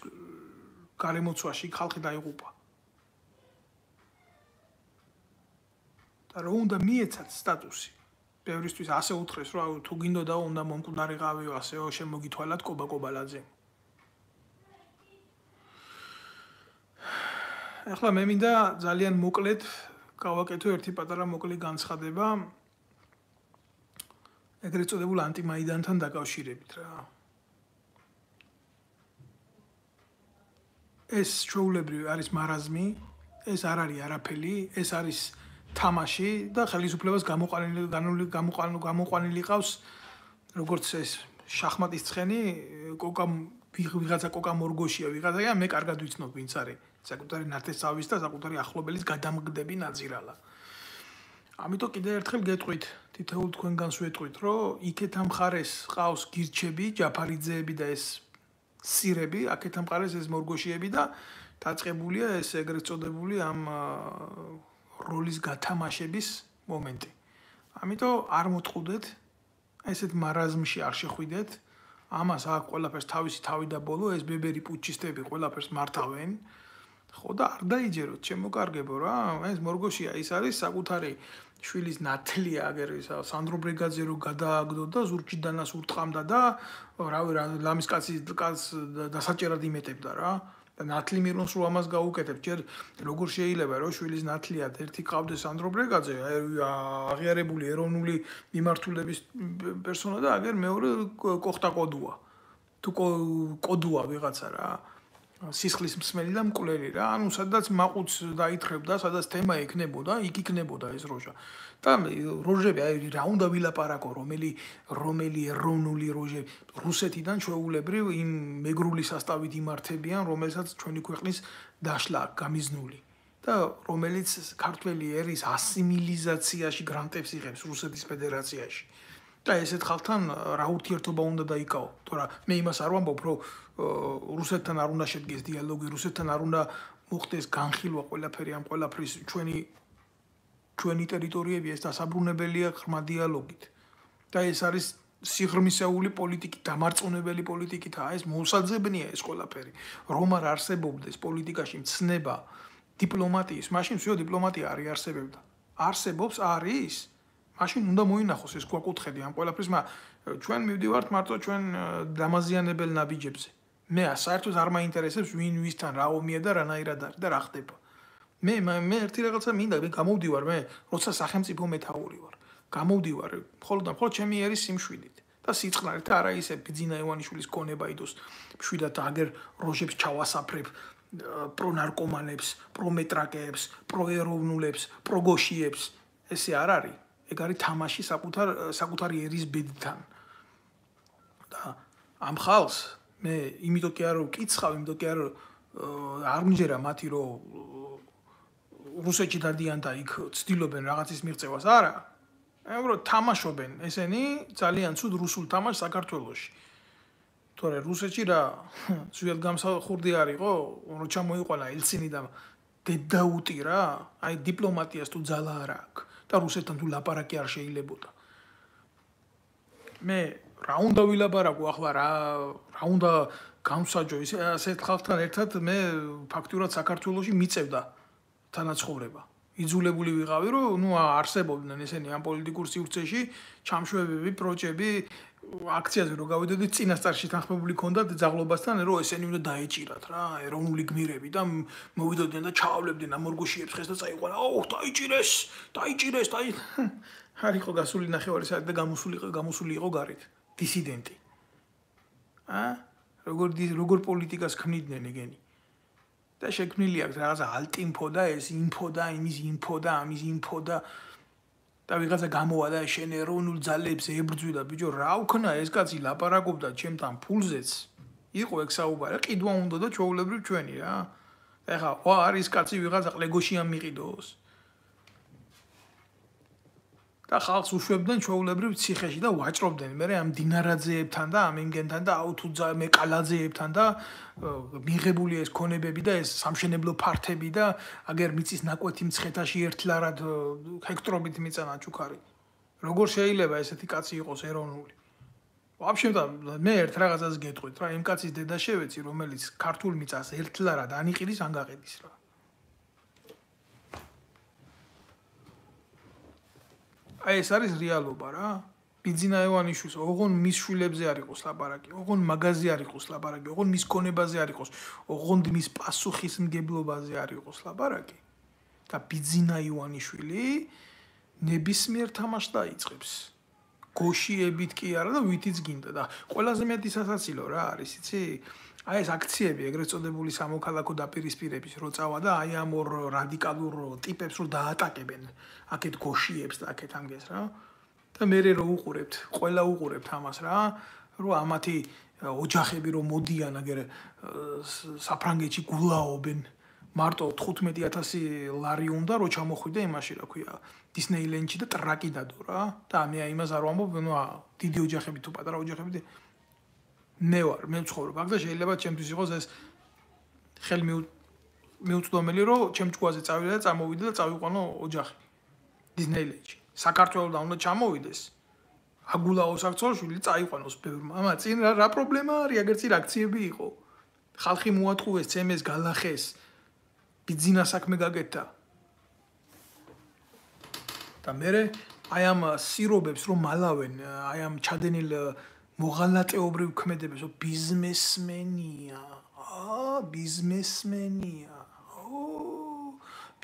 გარემოცვაში ხალხი დაიღუპა. და რომ უნდა მიეცათ სტატუსი. ბევრისთვის ასე უთხრეს, რომ თუ გინდოდა უნდა მომკვდარიყავიო ასეო შემოგითვალათ კობა-კობალაძე. ახლა მე მინდა ძალიან მოკლედ გავაკეთო ერთი პატარა მოკლე განცხადება ეგრეთ წოდებულ ანტიმაიდანთან დაკავშირებით რა. ეს ჩვეულებრივი არის მარაზმი, ეს არ არის არაფერი, ეს არის თამაში და ხელისუფლებას გამოყანილი გამოყანილი გამოყანილი ყავს როგორც ეს შახმატის ცხენი კოკა ვიღაცა კოკა მორგოშია ვიღაცა მე კარგად ვიცნობ ვინც არის საკუთარი ნათესავის და საკუთარი ახლობელის გადამგდები ნაძირალა. ამიტომ კიდევ ერთხელ გეტყვით, თითოეულ თქვენგანს ვეტყვით, რომ იქეთ ამ მხარეს ყავს გირჩები, ჯაფარიძეები და ეს სირები, აქეთ ამ მხარეს ეს მორგოშიები და დაწყებულია ეს ეგრეთ წოდებული ამ როლის გათამაშების მომენტი. ამიტომ არ მოწყუდეთ, ესეთ მარაზმში არ შეხვიდეთ, ამას აქ ყველაფერს თავისი თავი და ბოლო, ეს ბებერი პუჩისტები ყველაფერს მართავენ. ხო და არ დაიჯეროთ, ჩემო კარგებო რა, ეს მორგოშია ის არის საკუთარი შვილის ნათლია აგერ ისა სანდრო ბრიგაძე რო გადააგდო და ზურგჭიდანას ურტყამდა და რავი რა ლამის კაცის კაც დასაჭერად იმეტებდა რა. და ნათლი მირონს რო ამას გაუკეთებ, ჯერ როგორ შეიძლება რომ შვილის ნათლიად ერთი ყავდეს სანდრო ბრიგაძე, აღიარებული ეროვნული მიმართულების პერსონა და აგერ მეორე კოხტა კოდუა. თუ კოდუა ვიღაცა რა. სისხლის მსმელი და მკვლელი რა, ანუ სადაც მაყუც დაითხრებდა, სადაც თემა ექნებოდა, იქ იქნებოდა ეს როჟა. და როჟები აი რა უნდა ვილაპარაკო, რომელი რომელი ეროვნული როჟები რუსეთიდან ჩვეულებრივ იმ მეგრული სასტავით იმართებიან, რომელსაც ჩვენი ქვეყნის დაშლა გამიზნული და რომელიც ქართველი ერის ასიმილიზაციაში გრანტებს იღებს რუსეთის ფედერაციაში. და ესეთ ხალხთან რა ურთიერთობა უნდა დაიკავო, თორემ მე იმას არ ვამბობ, რომ რუსეთთან არ უნდა შედგეს დიალოგი, რუსეთთან არ უნდა მოხდეს განხილვა ყველაფერი ამ ყველაფრის ჩვენი ჩვენი ტერიტორიები ეს დასაბრუნებელია ღრმა დიალოგით. და ეს არის სიღრმისეული პოლიტიკით, დამარწმუნებელი პოლიტიკითაა, ეს მოსაძებნია ეს ყველაფერი. რომ არ არსებობდეს პოლიტიკაში მცნება დიპლომატიის, მაშინ всё დიპლომატია არ იარსებებდა. არსებობს არის მაშინ უნდა მოინახოს ეს გვაკუთხები ამ ყველაფრის, მაგრამ ჩვენ მივდივართ მარტო ჩვენ დამაზიანებელ ნაბიჯებზე. მე საერთოდ არ მაინტერესებს ვინ ვისთან რა ომია და რანაირად არის და რა ხდება. მე მე ერთი რაღაცა მინდა, მე გამოვდივარ მე, როცა სახელმწიფო მეთაური ვარ. გამოვდივარ მხოლოდ და მხოლოდ ჩემი ერის სიმშვიდით და სიწყნარით და არა ისე ბიძინა ივანიშვილის კონება იდოს მშვიდად აგერ როჟებს ჩავასაფრებ პრონარკომანებს, პრომეტრაკეებს, პროეროვნულებს, პროგოშიებს. ესე არ არის. ეგ არის თამაში საკუთარ საკუთარი ერის ბედთან. და ამ ხალხს მე იმიტომ კი არ ვკიცხავ, იმიტომ კი არ არ მჯერა მათი რომ რუსეთში დადიან და იქ ცდილობენ რაღაცის მიღწევას, არა. უბრალოდ თამაშობენ ესენი ძალიან ცუდ რუსულ თამაშს საქართველოში. თორე რუსეთში რა ძველ გამსახურდი არისო, რომ ჩამოიყვანა ელცინი და დედაუტი რა, აი დიპლომატიას თუ ძალა არ აქვს. და რუსეთთან თუ ლაპარაკი არ შეიძლებოდა. მე რა უნდა ვილაპარაკო ახლა რა რა უნდა გამსაჯო ისე ასეთ ხალხთან ერთად მე ფაქტურად საქართველოში მიწევდა თანაცხოვრება. იძულებული ვიყავი რომ ნუ არსებობდნენ ესენი ამ პოლიტიკურ სივრცეში ჩამშვებები, პროჭები, აქციაზე რო გავიდოდით წინასწარში თანხმებული ქონდათ ძაღლობასთან რომ ესენი უნდა დაეჭირათ რა, ეროვნული გმირები და მოვიდოდნენ და ჩაავლებდნენ ამ მორგოშიებს ხეს და წაიყვანა. აუ, დაიჭირეს, დაიჭირეს, დაი არ იყო გასული ნახევარი საათი და გამოსული გამოსული იყო გარეთ. დისიდენტი. ა? როგორ როგორ პოლიტიკას ქმნიდნენ ეგენი? და შექმნილი აქვს რაღაცა ალტინფო და ეს ინფო და იმის ინფო და ამის ინფო და და ვიღაცა გამოვა და შენ ეროვნულ ძალებს ებრძვიდა, ბიჭო, რა ვქნა ეს კაცი ლაპარაკობდა ჩემთან ფულზეც. იყო ეგ საუბარი, ყიდვა უნდა და ჩვეულებრივ ჩვენი რა. ეხლა ვა არის კაცი ვიღაცა ყლეგოში ამიყიდოს. და ხალხს უშვებდნენ ჩვეულებრივ ციხეში და ვაჭრობდნენ მე ამ დინარაძეებთან და ამ იმგენთან და აუთუ მე კალაძეებთან და მიღებული ეს ქონებები და ეს სამშენებლო ფართები და აგერ მიწის ნაკვეთი მცხეთაში ერთლარად ჰექტრობით მიწანა ჩუქარი. როგორ შეიძლება ესეთი კაცი იყოს ეროვნული? ვაფშე მე ერთ რაღაცას გეტყვით რა, იმ კაცის დედა შევეცი, რომელიც ქართულ მიწას ერთლარად ანიყიდის, ანგაყიდის რა. აი ეს არის რეალობა რა. ბიძინა ევანიშვილს ოღონ მის შვილებზე არ იყოს ლაპარაკი, ოღონ მაგაზე არ იყოს ლაპარაკი, ოღონ მის გონებაზე არ იყოს, ოღონ მის პასუხისმგებლობაზე არ იყოს ლაპარაკი. და ბიძინა ივანიშვილი ნებისმიერ თამაშს დაიწყებს. გოშიებით კი არა და ვითიც გინდა და ყველაზე მეტი სასაცილო რა არის, იცი? აი ეს აქციები, ეგრეთ წოდებული სამოქალაქო დაპირისპირების რო წავა და აი ამ ორ რადიკალურ ტიპებს რო დაატაკებენ, აქეთ გოშიებს და აქეთ ამგეს რა. და მე რო უყურებთ, ყველა უყურებთ ამას რა, რომ ამათი ოჯახები რომ მოდიან აგერ საფრანგეთში გულაობენ. მარტო თხუთმეტი ათასი ლარი უნდა რომ ჩამოხვიდე იმაში რა ქვია დისნეილენდში და ტრაკი დადო რა და მე აი იმას არ ვამბობ ნუ დიდი ოჯახები თუ პატარა ოჯახები მე ვარ მე ვცხოვრობ აქ და შეიძლება ჩემთვის იყოს ეს ხელ მიუწვდომელი რომ ჩემ ჭკუაზე წავიდე და წამოვიდე და წავიყვანო ოჯახი დისნეილენდში საქართველოსთან უნდა ჩამოვიდეს აგულაო საქართველოში წაიყვანოს ბევრმა ამა წინ რა რა პრობლემა არის აგერ წინ აქციები იყო ხალხი მოატყუეს ცემეს გალახეს ბიძინა საქმე გაკეთა და მე აი ამ სირობებს რომ მალავენ აი ამ ჩადენილ მოღალატეობრივ ქმედებს რომ ბიზნესმენია აა ბიზნესმენია ო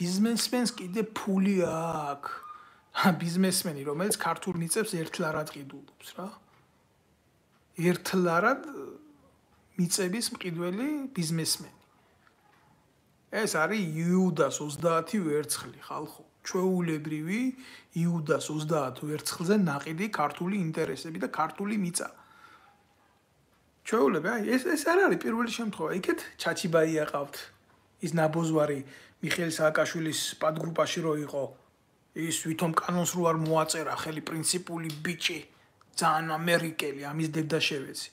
ბიზნესმენს კიდე ფული აქვს ბიზნესმენი რომელიც ქართულ მიწებს ერთლარად ყიდულობს რა ერთლარად მიწების მყიდველი ბიზნესმენი ეს არის იუდას ოცდაათი ვერცხლი ხალხო ჩვეულებრივი იუდას ოცდაათ ვერცხლზე ნაყიდი ქართული ინტერესები და ქართული მიწა ჩვეულები აი ეს ეს არ არის პირველი შემთხვევა იქეთ ჩაჩიბაი აყავთ ის ნაბოძვარი მიხეილ სააკაშვილის პადგრუპაში რო იყო ის ვითომ კანონს რო არ მოაწერა ხელი პრინციპული ბიჭი ძალიან ამერიკელი ამის დედა შევეცი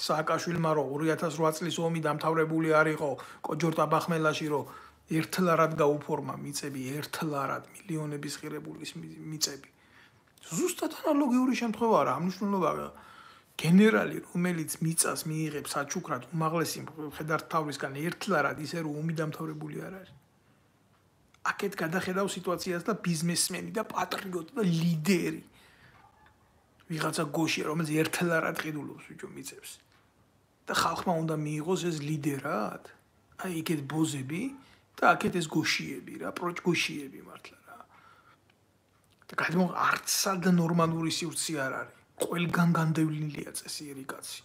სააკაშვილმა რო ორი ათას რვა წლის ომი დამთავრებული არ იყო კოჯორტაბახმელაში რო ერთლარად გაუფორმა მიწები ერთლარად მილიონების ღირებულის მიწები ზუსტად ანალოგიური შემთხვევა რა ამნიშნულობა გენერალი რომელიც მიწას მიიღებს საჩუქრად უმაღლესი მხედართ თავისგან ერთლარად ისე რომ ომი დამთავრებული არ არის აქეთ გადახედავ სიტუაციას და ბიზნესმენი და პატრიოტი და ლიდერი ვიღაცა გოშია რომელიც ერთლარად ყიდულობს ბიჭო მიწებს და ხალხმა უნდა მიიღოს ეს ლიდერად აი იქეთ ბოზები და აქეთ ეს გოშიები რა პროჭგოშიები მართლა რა და გადმო არც სად ნორმალური სივრცე არ არის ყველგან განდევნილია წესიერი კაცი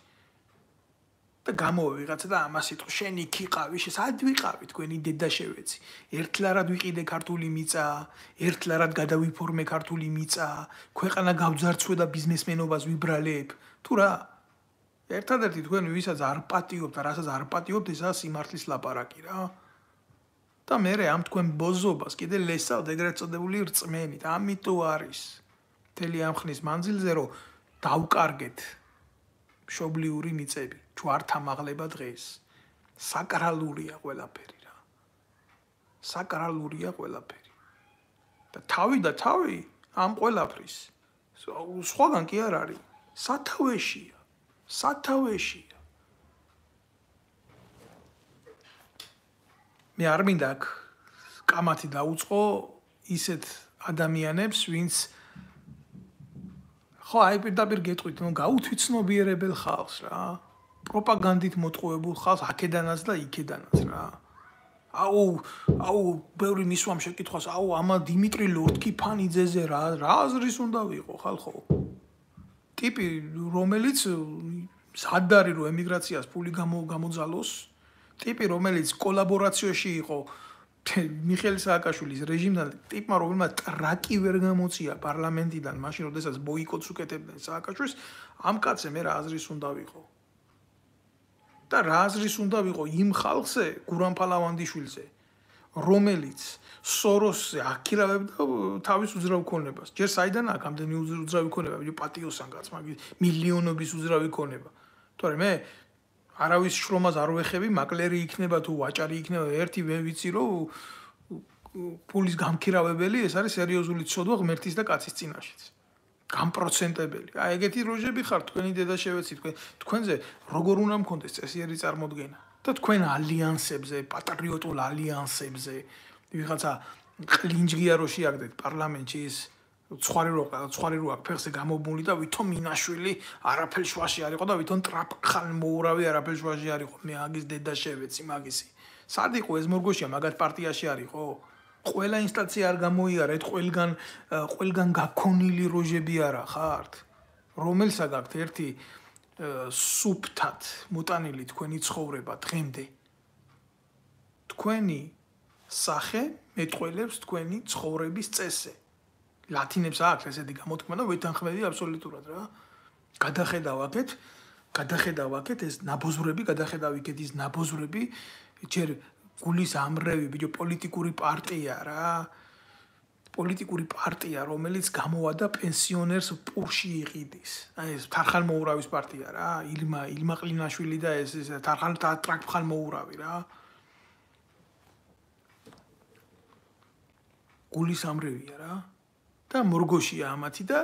და გამოვა ვიღაცა და ამას იტყვის შენ იქ იყავი სად ვიყავი თქვენი დედა შევეცი ერთლარად ვიყიდე ქართული მიწა ერთლარად გადავიფორმე ქართული მიწა ქვეყანა გავძარცვე და ბიზნესმენობას ვიბრალებ თუ რა ერთადერთი თქვენ ვისაც არ პატიობთ და რასაც არ პატიობთ ესაა სიმართლის ლაპარაკი რა და მე ამ თქვენ ბოზობას კიდე ლესავთ ეგრეთ წოდებული რწმენით ამიტომ არის მთელი ამ ხნის მანძილზე რომ დავკარგეთ მშობლიური მიწები ჯვართა მაღლება დღეს საკრალურია ყველაფერი რა საკრალურია ყველაფერი და თავი და თავი ამ ყველაფრის სხვაგან კი არ არის სათავეშია სათავეშია მე არ მინდა აქ კამათი დაუწყო ისეთ ადამიანებს ვინც ხო აი პირდაპირ გეტყვით რომ გაუთვითცნობიერებელ ხალხს რა პროპაგანდით მოტყუებულ ხალხს აქედანაც და იქედანაც რა აუ აუ ბევრი მისვამ შეკითხვას აუ ამა დიმიტრი ლორთქიფანიძეზე რა რა აზრის უნდა ვიყო ხალხო ტიპი რომელიც ზადარი რო ემიგრაციას ფული გამოძალოს ტიპი რომელიც კოლაბორაციაში იყო მიხეილ სააკაშვილის რეჟიმთან ტიპმა რომელმაც ტრაკი ვერ გამოწია პარლამენტიდან მაშინ როდესაც ბოიკოტს უკეთებდნენ სააკაშვილს ამ კაცზე მე რა აზრის უნდა ვიყო და რა აზრის უნდა ვიყო იმ ხალხზე გურამ ფალავანდიშვილზე რომელიც სოროსზე აქირავებდა თავის უძრავ ქონებას ჯერ საიდან აქ ამდენი უძრავი ქონება პატიოსან კაცმა მილიონობის უძრავი ქონება თორემ მე არავის შრომას არ ვეხები, მაკლერი იქნება თუ ვაჭარი იქნება, ერთი მე ვიცი რომ ფულის გამქირავებელი ეს არის სერიოზული ცოდვა ღმერთის და კაცის წინაშეც. გამპროცენტებელი. აი ეგეთი როჟები ხართ თქვენი დედა შევეცი თქვენ თქვენზე როგორ უნდა მქონდეს წესიერი წარმოდგენა და თქვენ ალიანსებზე, პატრიოტულ ალიანსებზე ვიღაცა ყლინჯგია რო შეაგდეთ პარლამენტში ის ცხვარი რო ცხვარი რო აქ ფეხზე გამობმული და ვითომ მინაშვილი არაფერ შვაში არ იყო და ვითომ ტრაპხან მოურავი არაფერ შვაში არ იყო. მე აგის დედა შევეცი მაგისი. სად იყო ეს მორგოშია მაგათ პარტიაში არ იყო? ყველა ინსტანცია არ გამოიარეთ, ყველგან ყველგან გაქონილი როჟები არა ხართ? რომელსა გაქვთ ერთი სუფთად მოტანილი თქვენი ცხოვრება დღემდე. თქვენი სახე მეტყველებს თქვენი ცხოვრების წესზე. ლათინებს აქვს ესეთი გამოთქმა და ვეთანხმები აბსოლუტურად რა. გადახედავ აქეთ, გადახედავ აქეთ ეს ნაბოზვრები, გადახედავ იქეთ ის ნაბოზვრები, ჯერ გულის ამრევი ბიჭო პოლიტიკური პარტია რა. პოლიტიკური პარტია, რომელიც გამოვადა პენსიონერს პურში იყიდის. აი ეს თარხან მოურავის პარტია რა. ილმა ილმა ყლინაშვილი და ეს ეს თარხან ტრაკფხან მოურავი რა. გულის ამრევია რა. და მორგოშია ამათი და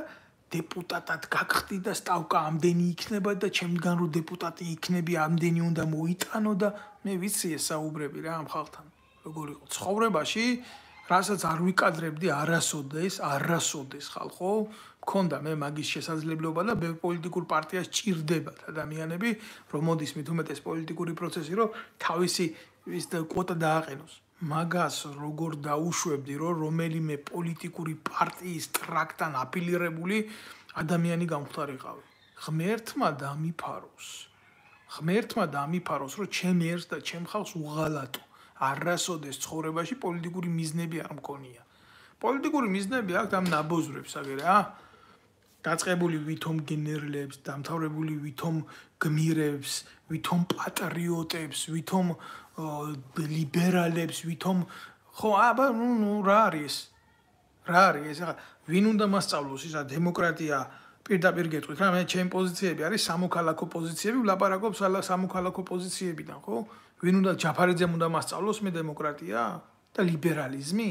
დეპუტატად გაგხდი და სტავკა ამდენი იქნება და ჩემგან რო დეპუტატი იქნები ამდენი უნდა მოიტანო და მე ვიცი ეს საუბრები რა ამ ხალხთან როგორ იყო ცხოვრებაში რასაც არ ვიკადრებდი არასოდეს არასოდეს ხალხო მქონდა მე მაგის შესაძლებლობა და მე პოლიტიკურ პარტიას ჭირდებათ ადამიანები რომ მოდის მით უმეტეს პოლიტიკური პროცესი რომ თავისი ის კვოტა დააყენოს მაგას როგორ დაუშვებდი რომ რომელიმე პოლიტიკური პარტიის ტრაქტან აფილირებული ადამიანი გამختارიყავი ღმერთმა დამიფაროს ღმერთმა დამიფაროს რომ ჩემ ერს და ჩემ ხალხს უღალატო არასოდეს ცხოვრებაში პოლიტიკური მიზნები არ მქონია პოლიტიკური მიზნები აქვს ამ ნაბოზრებს აგერ რა დაწყებული ვითომ გენერლებს დამთავრებული ვითომ გმირებს ვითომ პატრიოტებს ვითომ ლიბერალებს ვითომ ხო აბა ნუ რა არის რა არის ახლა ვინ უნდა მასწავლოს ისა დემოკრატია პირდაპირ გეტყვით რა მე ჩემი პოზიციები არის სამოქალაქო პოზიციები ვლაპარაკობ სამოქალაქო პოზიციებიდან ხო ვინ უნდა ჯაფარიძემ უნდა მასწავლოს მე დემოკრატია და ლიბერალიზმი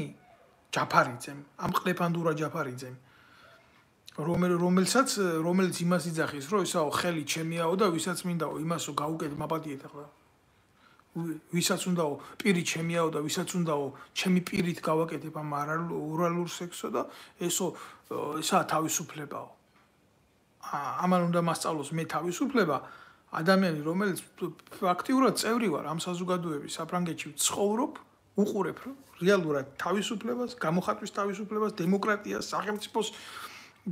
ჯაფარიძემ ამ ყლეფანდურა ჯაფარიძემ რომელ რომელსაც რომელიც იმას იძახის რომ ისაო ხელი ჩემიაო და ვისაც მინდაო იმასო გაუკეთ მაპატიეთ ახლა ვისაც უნდაო პირი ჩემიაო და ვისაც უნდაო ჩემი პირით გავაკეთებ ამ ორალურ სექსო და ესო ესა თავისუფლებაო ამან უნდა მასწავლოს მე თავისუფლება ადამიანი რომელიც ფაქტიურად წევრი ვარ ამ საზოგადოების საფრანგეთში ცხოვრობ უყურებ რეალურად თავისუფლებას გამოხატვის თავისუფლებას დემოკრატიას სახელმწიფოს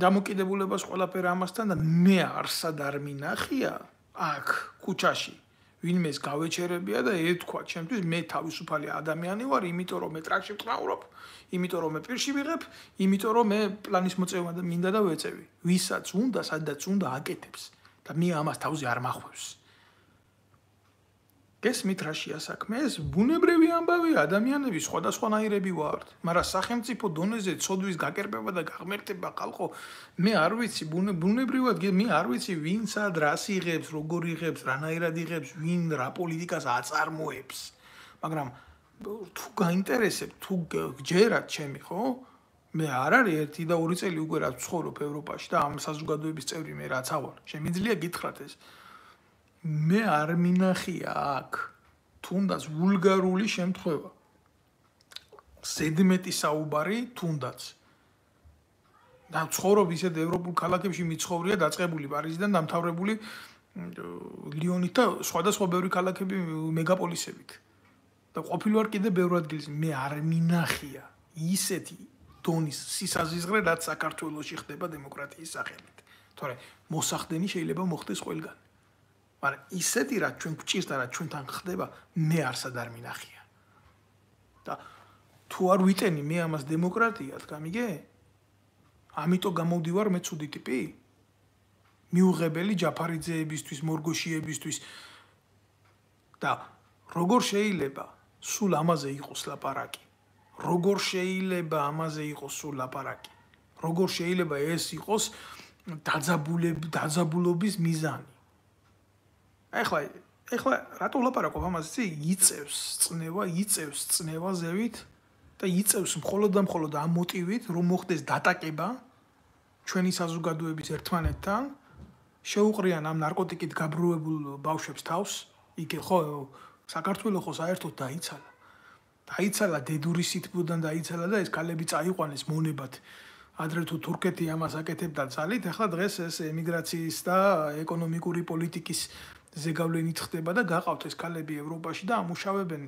დამოკიდებულებას ყველაფერ ამასთან და მე არსად არ მინახია აქ ქუჩაში ვინმეს გავეჩერებია და ეთქვა ჩემთვის მე თავისუფალი ადამიანი ვარ იმიტომ რომ მე ტრაქში ვტყავრობ იმიტომ რომ მე პირში ვიღებ იმიტომ რომ მე პლანის მოწევა და მინდა და ვეწევი ვისაც უნდა სადაც უნდა აკეთებს და მე ამას თავზე არ მახვევს გესმით რაშია საქმე ეს ბუნებრივი ამბავია ადამიანები სხვადასხვანაირები ვართ მაგრამ სახელმწიფო დონეზე ცოდვის გაკერპება და გაღმერთება ხალხო მე არ ვიცი ბუნებრივად მე არ ვიცი ვინ სად რას იღებს როგორ იღებს რანაირად იღებს ვინ რა პოლიტიკას აწარმოებს მაგრამ თუ გაინტერესებთ თუ გჯერათ ჩემი ხო მე არ არის ერთი და ორი წელი უკვე რაც ვცხოვრობ ევროპაში და ამ საზოგადოების წევრი მე რაც ავარ შემიძლია გითხრათ ეს მე არ მინახია აქ თუნდაც ვულგარული შემთხვევა ზედმეტი საუბარი თუნდაც და ცხოვრობ ისეთ ევროპულ ქალაქებში მიცხოვრია დაწყებული პარიზიდან დამთავრებული ლიონით და სხვადასხვა ბევრი ქალაქები მეგაპოლისებით და ყოფილვარ კიდე ბევრ ადგილზე მე არ მინახია ისეთი დონის სისაზღვრე რაც საქართველოში ხდება დემოკრატიის სახელით თორე მოსახდენი შეიძლება მოხდეს ყველგან მაგრამ ისეთი რა ჩვენ გვჭირს და რა ჩვენთან ხდება მე არსად არ მინახია და თუ არ ვიტენი მე ამას დემოკრატიად გამიგე ამიტომ გამოვდივარ მე ცუდი ტიპი მიუღებელი ჯაფარიძეებისთვის მორგოშიებისთვის და როგორ შეიძლება სულ ამაზე იყოს ლაპარაკი როგორ შეიძლება ამაზე იყოს სულ ლაპარაკი როგორ შეიძლება ეს იყოს დაძაბულობის მიზანი ეხლა ეხლა რატო ვლაპარაკობ ამაზე იწევს წნევა იწევს წნევა ზევით და იწევს მხოლოდ და მხოლოდ ამ მოტივით რომ მოხდეს დატაკება ჩვენი საზოგადოების ერთმანეთთან შეუყრიან ამ ნარკოტიკით გაბრუებულ ბავშვებს თავს იქ ხო საქართველოს ხო საერთოდ დაიცალა დაიცალა დედური სითბოდან დაიცალა და ეს ქალები წაიყვანეს მონებად ადრე თუ თურქეთი ამას აკეთებდა ძალით, ახლა დღეს ეს ემიგრაციის და ეკონომიკური პოლიტიკის ზეგავლენით ხდება და გაყავთ ეს ქალები ევროპაში და ამუშავებენ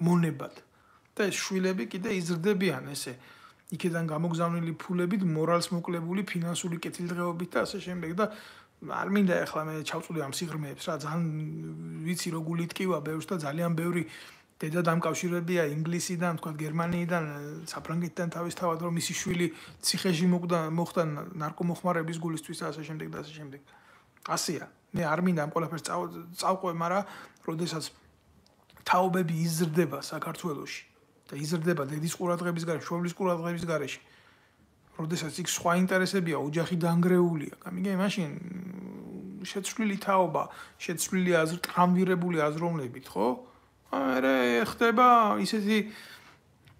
მონებად. და ეს შვილები კიდე იზრდებიან ესე. იქიდან გამოგზავნილი ფულებით, მორალს მოკლებული ფინანსური კეთილდღეობით და ასე შემდეგ და არ მინდა ახლა მე ჩავწვდე ამ სიღრმეებს რა, ძალიან ვიცი როგორ იტკივა ბევრს და ძალიან ბევრი დედა დამკავშირებია ინგლისიდან, თქვა გერმანიიდან, საფრანგეთიდან თავისთავად რომ მისი შვილი ციხეში მოკვდა, მოხდა ნარკომოხმარების გულისთვის და ასე შემდეგ და ასე შემდეგ. ასეა. მე არ მინდა ამ ყველაფერს წავყვე, მაგრამ როდესაც თაობები იზრდება საქართველოში და იზრდება დედის ყურადღების გარეშე, შვილის ყურადღების გარეშე. როდესაც იქ სხვა ინტერესებია, ოჯახი დანგრეულია. გამიგე, მაშინ შეცვლილი თაობა, შეცვლილი აზრი, ტრამვირებული აზროვნებით, ხო? არა, ხდება ისეთი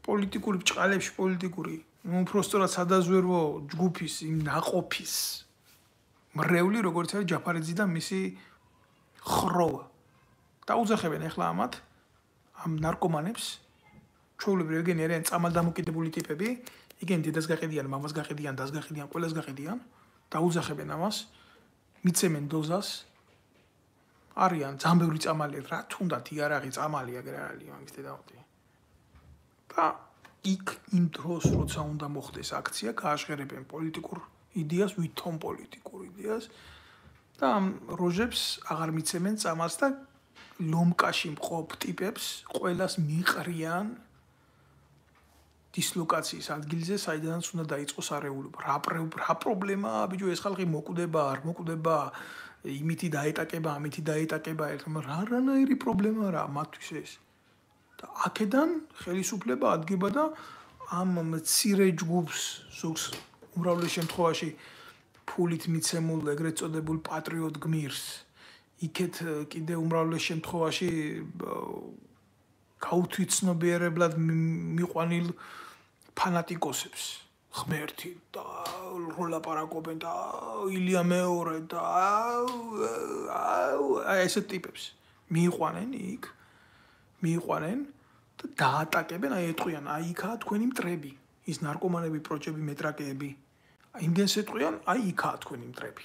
პოლიტიკური ბჭყალებში პოლიტიკური, უბრალოდ სადაზვერვო ჯგუფის, იმ ნაყოფის მრევლი, როგორც არის ჯაფარიძე და მისი ხროვა. დაუძახებენ ახლა ამათ ამ ნარკომანებს, ჩვეულებრივ ეგენი არიან წამალდამოკიდებული ტიპები, igen დედას გაყიდიან, მამას გაყიდიან, დას გაყიდიან, ყველას გაყიდიან, დაუძახებენ ამას, მიცემენ დოზას. არიან ძალიან ბევრი წამალი, რა თუნდაც იარაღი წამალი აგრე არის მაგის დედავდი. და იქ იმ დროს როცა უნდა მოხდეს აქცია, გააშღერებენ პოლიტიკურ იდეას, ვითომ პოლიტიკურ იდეას და ამ როჟებს აღარ მიცემენ წამალს და ლომკაში მყოფ ტიპებს ყველას მიყრიან დისლოკაციის ადგილზე, საიდანაც უნდა დაიწყოს არეულობა. რა რა პრობლემაა, ბიჭო, ეს ხალხი მოკვდება, არ მოკვდება, იმითი დაეტაკება, ამითი დაეტაკება, ერთმა რა რანაირი პრობლემაა რა მათთვის ეს. და აქედან ხელისუფლება ადგება და ამ მცირე ჯგუფს, ზოგს უმრავლეს შემთხვევაში ფულით მიცემულ ეგრეთ წოდებულ პატრიოტ გმირს, იქეთ კიდე უმრავლეს შემთხვევაში გაუთვითცნობიერებლად მიყვანილ ფანატიკოსებს, ღმერთი და როლაპარაკობენ და ილია მეორე და ესეთ ტიპებს მიიყვანენ იქ, მიიყვანენ და დაატაკებენ, აი ეტყვიან, აი იქაა თქვენი მტრები, ის ნარკომანები, პროჭები, მეტრაკეები. იმდენს ეტყვიან, აი იქაა თქვენი მტრები.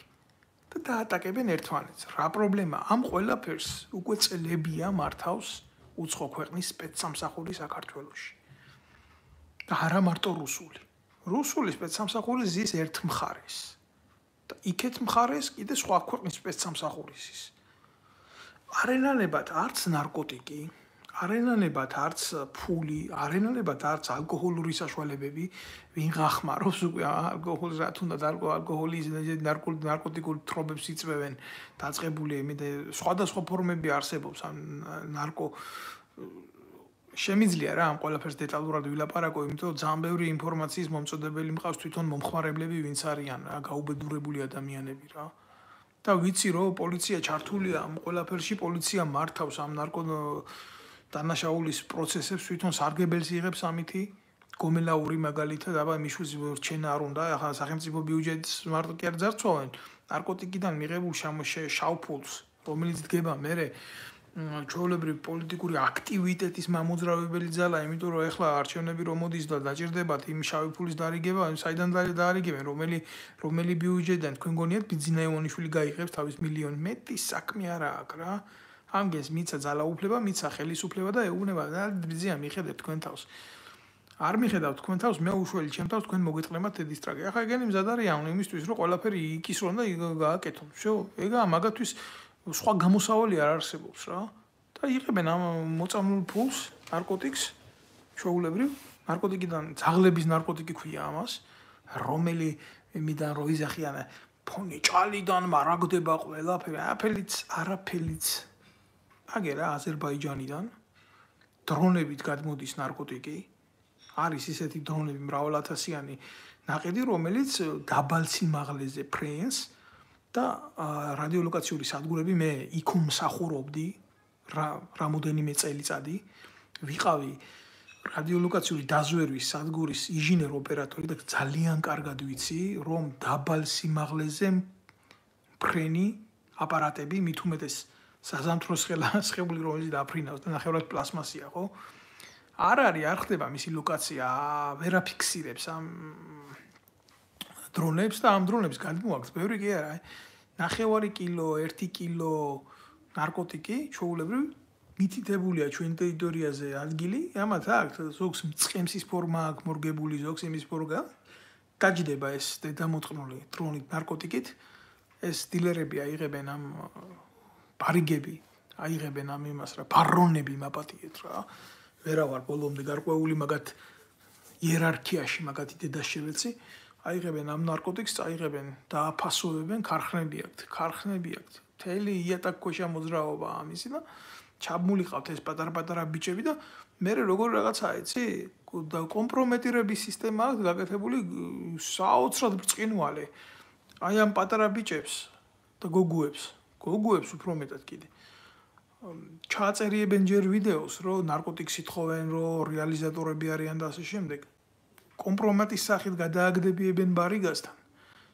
და დაატაკებენ ერთმანეთს. რა პრობლემა? ამ ყველაფერს უკვე წლებია მართავს უცხო ქვეყნის სპეცსამსახური საქართველოში. და არა მარტო რუსული. რუსული სპეცსამსახური ზის ერთ მხარეს. და იქეთ მხარეს კიდე სხვა ქვეყნის სპეცსამსახური ზის. არენანებად არც ნარკოტიკი, არენანებად არც ფული, არენანებად არც ალკოჰოლური საშუალებები, ვინ გახმარობს უკვე ალკოჰოლს რა თუნდაც ალკოჰოლის ნარკოტიკულ თრობებს იწვევენ, დაწყებული მე სხვადასხვა ფორმები არსებობს ამ ნარკო შემიძლია რა ამ ყველაფერს დეტალურად ვილაპარაკო, იმიტომ რომ ძალიან ბევრი ინფორმაციის მომწოდებელი მყავს თვითონ მომხმარებლები, ვინც არიან რა გაუბედურებული ადამიანები რა. და ვიცი რომ პოლიცია ჩართულია ამ ყველაფერში, პოლიცია მართავს ამ ნარკო დანაშაულის პროცესებს, თვითონ სარგებელს იღებს ამითი, გომელაური მაგალითად, აბა მიშვილს რჩენა არ უნდა, ახლა სახელმწიფო ბიუჯეტს მარტო კი არ ძარცვავენ, ნარკოტიკიდან მიღებულ შავ ფულს, რომელიც დგება მერე ჩვეულებრივ პოლიტიკური აქტივიტეტის მამოძრავებელი ძალა, იმიტომ რომ ეხლა არჩევნები რომ მოდის და დაჭირდებათ იმ შავი ფულის დარიგება, საიდან დაარიგებენ, რომელი რომელი ბიუჯეტიდან თქვენ გონიათ ბიძინა ივანიშვილი გაიღებს თავის მილიონი, მეტი საქმე არა აქვს რა. ამგეს მიცა ძალაუფლება, მიცა ხელისუფლება და ეუბნება და ბიძია მიხედეთ თქვენ თავს. არ მიხედავთ თქვენ თავს, მე უშველი ჩემ თავს თქვენ მოგეწყლებათ დედის ტრაკი. ახლა ეგენი მზად არიან იმისთვის რომ ყველაფერი იკისრონ და გააკეთონ. всё, ეგა მაგათვის სხვა გამოსავალი არ არსებობს რა. და იღებენ ამ მოწამლულ ფულს, ნარკოტიკს, ჩვეულებრივ, ნარკოტიკიდან ძაღლების ნარკოტიკი ქვია ამას, რომელი იმიდან რო იზახიან ფონი ჭალიდან მარაგდება ყველაფერი, არაფერიც, არაფერიც. აგერა აზერბაიჯანიდან დრონებით გადმოდის ნარკოტიკი. არის ისეთი დრონები მრავალათასიანი ნაყიდი, რომელიც დაბალ სიმაღლეზე ფრენს და რადიოლოკაციური სადგურები მე იქ მსახურობდი რამოდენიმე წელიწადი, ვიყავი რადიოლოკაციური დაზვერვის სადგურის ინჟინერ ოპერატორი და ძალიან კარგად ვიცი, რომ დაბალ სიმაღლეზე ფრენი აპარატები მით უმეტეს საზამთროს ხელახებული რომელიც დაფრინავს და ნახევრად პლასმასია, ხო? არ არის, არ ხდება მისი ლოკაცია, ვერაფიქსირებს ამ დრონებს და ამ დრონებს გადმოაქვს ბევრი კი არა, ნახევარი კილო, ერთი კილო ნარკოტიკი, ჩვეულებრივ მითითებულია ჩვენ ტერიტორიაზე ადგილი, ამათ აქვს ზოგს მწყემსის ფორმა აქვს მორგებული, ზოგს იმის ფორმა. გაჯდება ეს დედამოწყნული დრონით ნარკოტიკით. ეს დილერები აიღებენ ამ ბარიგები, აიღებენ ამ იმას რა, ბარონები მაპატიეთ რა. ვერა ვარ ბოლომდე გარკვეული მაგათ იერარქიაში მაგათი დედაშევეცი. აიღებენ ამ ნარკოტიკს, აიღებენ და აფასოვებენ ქარხნები აქვთ, ქარხნები აქვთ. მთელი იატაკქვეშა მოძრაობა ამისი და ჩაბმულიყავთ ეს პატარ-პატარა ბიჭები და მე როგორ რაღაცაა, იცი? და კომპრომეტირების სისტემა აქვს გაკეთებული საოცრად ბრწყინვალე. აი ამ პატარა ბიჭებს და გოგუებს, გოგუებს უფრო მეტად კიდე. ჩააწერიებენ ჯერ ვიდეოს, რომ ნარკოტიკს ითხოვენ, რომ რეალიზატორები არიან და ასე შემდეგ. კომპრომეტის სახით გადააგდებიებენ ბარიგასთან.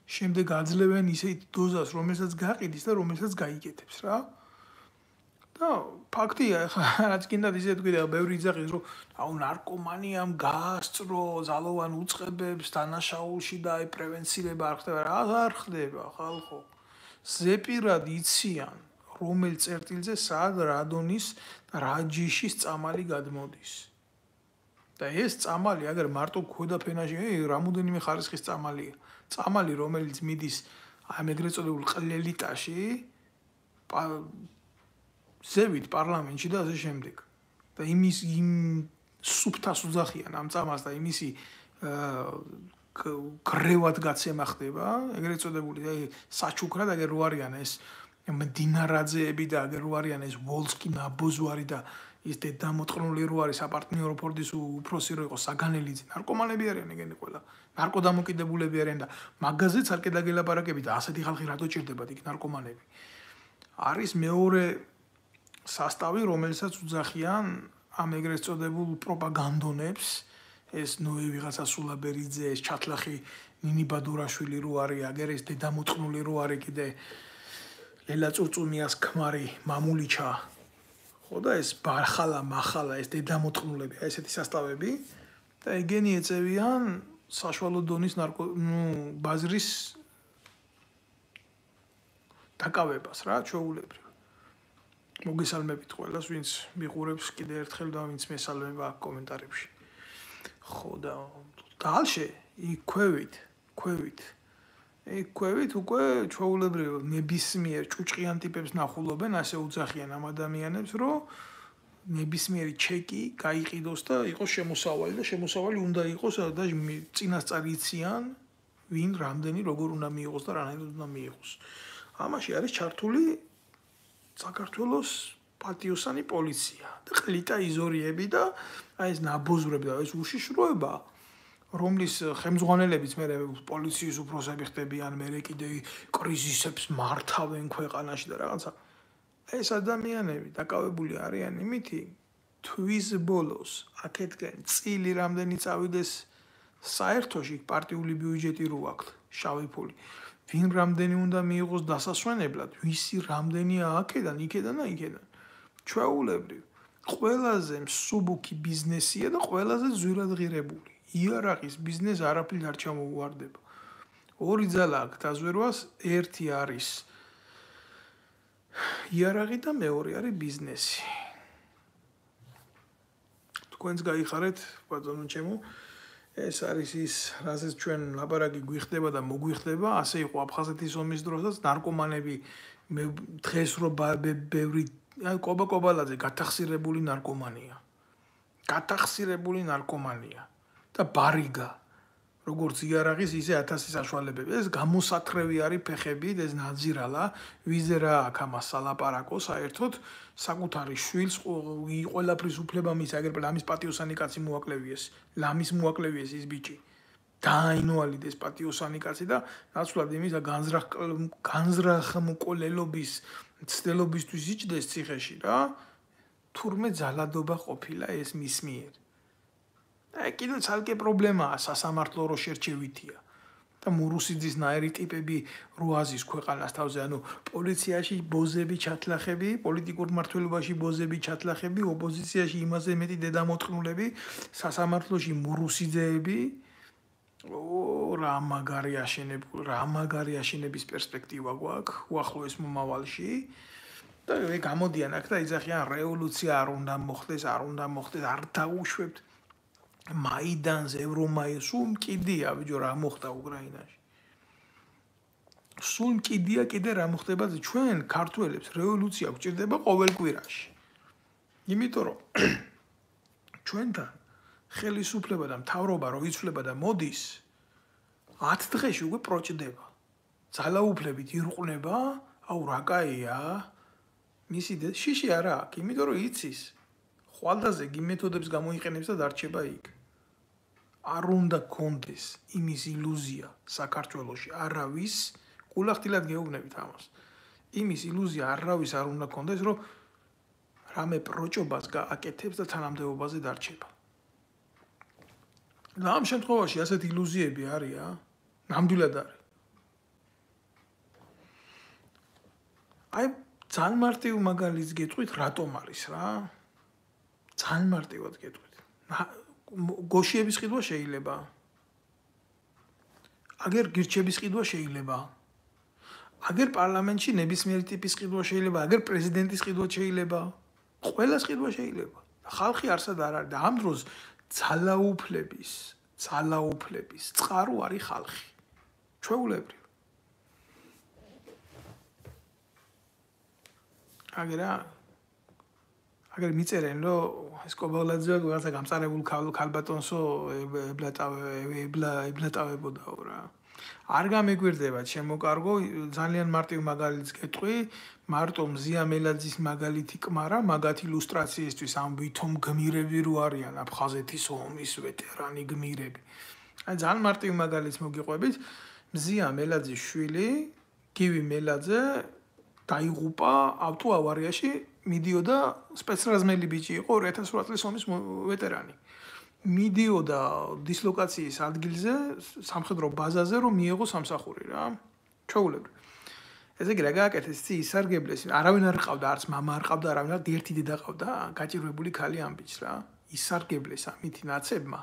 შემდეგ აძლევენ ისეთ დოზას, რომელსაც გაყიდის და რომელსაც გაიგეთებს რა. და ფაქტია, ხა რაც კიდევ ისე თქვი და ბევრი იძახის, რომ აუ ნარკომანიამ გაასწრო ზალოვან უწყებებს დანაშაულში და აი პრევენცირება არ ხდება. რა არ ხდება, ხალხო? ზეპირად იციან, რომელ წერტილზე სად რა დონის და რა ჯიშის წამალი გადმოდის. და ეს წამალი, აგერ მარტო ქვედა ფენაში, ე, რამოდენიმე ხარისხის წამალია. წამალი, რომელიც მიდის ამ ეგრეთ წოდებულ ყლელიტაში, ზევით პარლამენტში და ასე შემდეგ. და იმის იმ სუფთას უძახიან ამ წამას და იმისი გრევად გაცემა ხდება, ეგრეთ წოდებული, აი საჩუქრად აგერ რო არიან ეს მდინარაძეები და აგერ რო არიან ეს ვოლსკი ნაბოზვარი და ის დედამოწყნული რო არის საპარტნიორო ფორდის უფროსი რო იყო საგანელიძე, ნარკომანები არიან ეგენი ყველა. ნარკოდამოკიდებულები არიან და მაგაზეც არ კედაგელაპარაკები და ასეთი ხალხი რატო ჭირდებათ იქ ნარკომანები. არის მეორე სასტავი, რომელსაც უძახიან ამ ეგრეთ წოდებულ პროპაგანდონებს, ეს ნოე ვიღაცა სულაბერიძე, ეს ჩათლახი ნინი ბადურაშვილი რო არის, აგერ ეს დედამოწყნული რო არის კიდე ლელა წურწუმიას ქმარი მამულიჩა. ხო და ეს ბახალა, მახალა, ეს დედამოწყნულები, აი ესეთი სასტავები და ეგენი ეწევიან საშუალო დონის ნარკო, ნუ ბაზრის დაკავებას რა, ჩვეულებრივ. მოგესალმებით ყველას, ვინც მიყურებს კიდე ერთხელ და ვინც მესალმება აქ კომენტარებში. ხო და დალშე იქ ქვევით, ქვევით. იქ ქვევით უკვე ჩვეულებრივ ნებისმიერ ჭუჭყიან ტიპებს ნახულობენ, ასე უძახიან ამ ადამიანებს, რომ ნებისმიერი ჩეკი გაიყიდოს და იყოს შემოსავალი და შემოსავალი უნდა იყოს და წინასწარ იციან, ვინ რამდენი როგორ უნდა მიიღოს და რანაირად უნდა მიიღოს. ამაში არის ჩართული საქართველოს პატიოსანი პოლიცია და ყლიტა იზორიები და აი ეს ნაბოზვრები და ეს უშიშროება, რომლის ხელმძღვანელებიც მე პოლიციის უფროსები ხდებიან, მე კიდე კრიზისებს მართავენ ქვეყანაში და რაღაცა. ეს ადამიანები დაკავებული არიან იმითი, თვის ბოლოს აქეთკენ წილი რამდენი წავიდეს საერთოში პარტიული ბიუჯეტი რო აქვს, შავი ფული. ვინ რამდენი უნდა მიიღოს დასასვენებლად, ვისი რამდენია აქედან, იქედან და იქედან. ჩვეულებრივ, ყველაზე მსუბუქი ბიზნესია და ყველაზე ძვირადღირებული. იარაღის ბიზნეს არაფრით არ ჩამოუვარდება. ორი ძალა აქვს დაზვერვას, ერთი არის იარაღი და მეორე არის ბიზნესი. თქვენს გაიხარეთ, ბატონო ჩემო, ეს არის ის, რაზეც ჩვენ ლაპარაკი გვიხდება და მოგვიხდება, ასე იყო აფხაზეთის ომის დროსაც ნარკომანები დღეს რო ბევრი აი კობა-კობალაძე გათახსირებული ნარკომანია. გათახსირებული ნარკომანია და ბარიგა. როგორც იარაღის, ისე ათასი საშუალებები. ეს გამოსათრევი არის ფეხებით, ეს ნაძირალა, ვიზე რა აქ ამას სალაპარაკო საერთოდ საკუთარი შვილს ყველაფრის უფლება მის, აგერ ლამის პატიოსანი კაცი მოაკლევიეს, ლამის მოაკლევიეს ის ბიჭი. დაინვალიდეს პატიოსანი კაცი და ნაცვლად იმისა განზრახ განზრახმკვლელობის ცდელობისთვის იჭდეს ციხეში რა. თურმე ძალადობა ყოფილა ეს მის მიერ. აი კიდევ ცალკე პრობლემაა სასამართლო რო შერჩევითია და მურუსიძის ნაირი ტიპები რო აზის ქვეყანას თავზე, ანუ პოლიციაში ბოზები ჩათლახები, პოლიტიკურ მმართველობაში ბოზები ჩათლახები, ოპოზიციაში იმაზე მეტი დედამოწყნულები, სასამართლოში მურუსიძეები, ო რა მაგარი აშენებული, რა მაგარი აშენების პერსპექტივა გვაქვს უახლოეს მომავალში. და გამოდიან აქ და იძახიან რევოლუცია არ უნდა მოხდეს, არ უნდა მოხდეს, არ დაუშვებთ მაიდანს, ევრომაიდანს, სულ მკიდია ბიჭო რა მოხდა უკრაინაში. სულ მკიდია კიდე რა მოხდება ჩვენ ქართველებს რევოლუცია გვჭირდება ყოველ კვირაში. იმიტომ რომ ჩვენთან ხელისუფლება და მთავრობა რო იცვლება და მოდის ათ დღეში უკვე პროჭდება. ძალაუფლებით ირყნება, აუ რა კაია. მისი შიში არა აქვს, იმიტომ რომ იცის. ხვალდაზე იმ მეთოდებს გამოიყენებს და დარჩება იქ. არ უნდა გქონდეს იმის ილუზია საქართველოში არავის, გულახდილად გეუბნებით ამას. იმის ილუზია არავის არ უნდა გქონდეს, რომ რამე პროჭობას გააკეთებს და თანამდებობაზე დარჩება. და ამ შემთხვევაში ასეთ ილუზიები არია, ნამდვილად არის. აი ძალიან მარტივ მაგალითს გეტყვით, რატომ არის რა? ძალიან მარტივად გეტყვით. გოშიების ყიდვა შეიძლება. აგერ გირჩების ყიდვა შეიძლება. აგერ პარლამენტში ნებისმიერი ტიპის ყიდვა შეიძლება, აგერ პრეზიდენტის ყიდვა შეიძლება. ყველას ყიდვა შეიძლება. ხალხი არსად არ არის და ამ დროს ძალაუფლების, ძალაუფლების წყარო არის ხალხი. ჩვეულებრივ. აგერა აგერ მიწერენ რომ ეს კობალაძე რაღაცა გამწარებულ ქალბატონსო ებლატავებოდაო რა. არ გამეგვირდება ჩემო კარგო, ძალიან მარტივ მაგალითს გეტყვი, მარტო მზია მელაძის მაგალითი კმარა, მაგათ ილუსტრაციისთვის ამ ვითომ გმირები რო არიან აფხაზეთის ომის ვეტერანი გმირები. აი ძალიან მარტივ მაგალითს მოგიყვებით, მზია მელაძის შვილი, გივი მელაძე დაიღუპა ავტო ავარიაში, მიდიოდა სპეცრაზმელი ბიჭი იყო ორი ათას ორი წლის ომის ვეტერანი. მიდიოდა დისლოკაციის ადგილზე, სამხედრო ბაზაზე, რომ მიეღო სამსახური რა. ჩვეულებრივ. ესე იგი რა გააკეთეს, იცი ისარგებლეს, არავინ არ ყავდა, არც მამა არ ყავდა, არავინ არ ერთი დედა ყავდა, გაჭირვებული ქალი ამ ბიჭს რა. ისარგებლეს ამითი ნაცებმა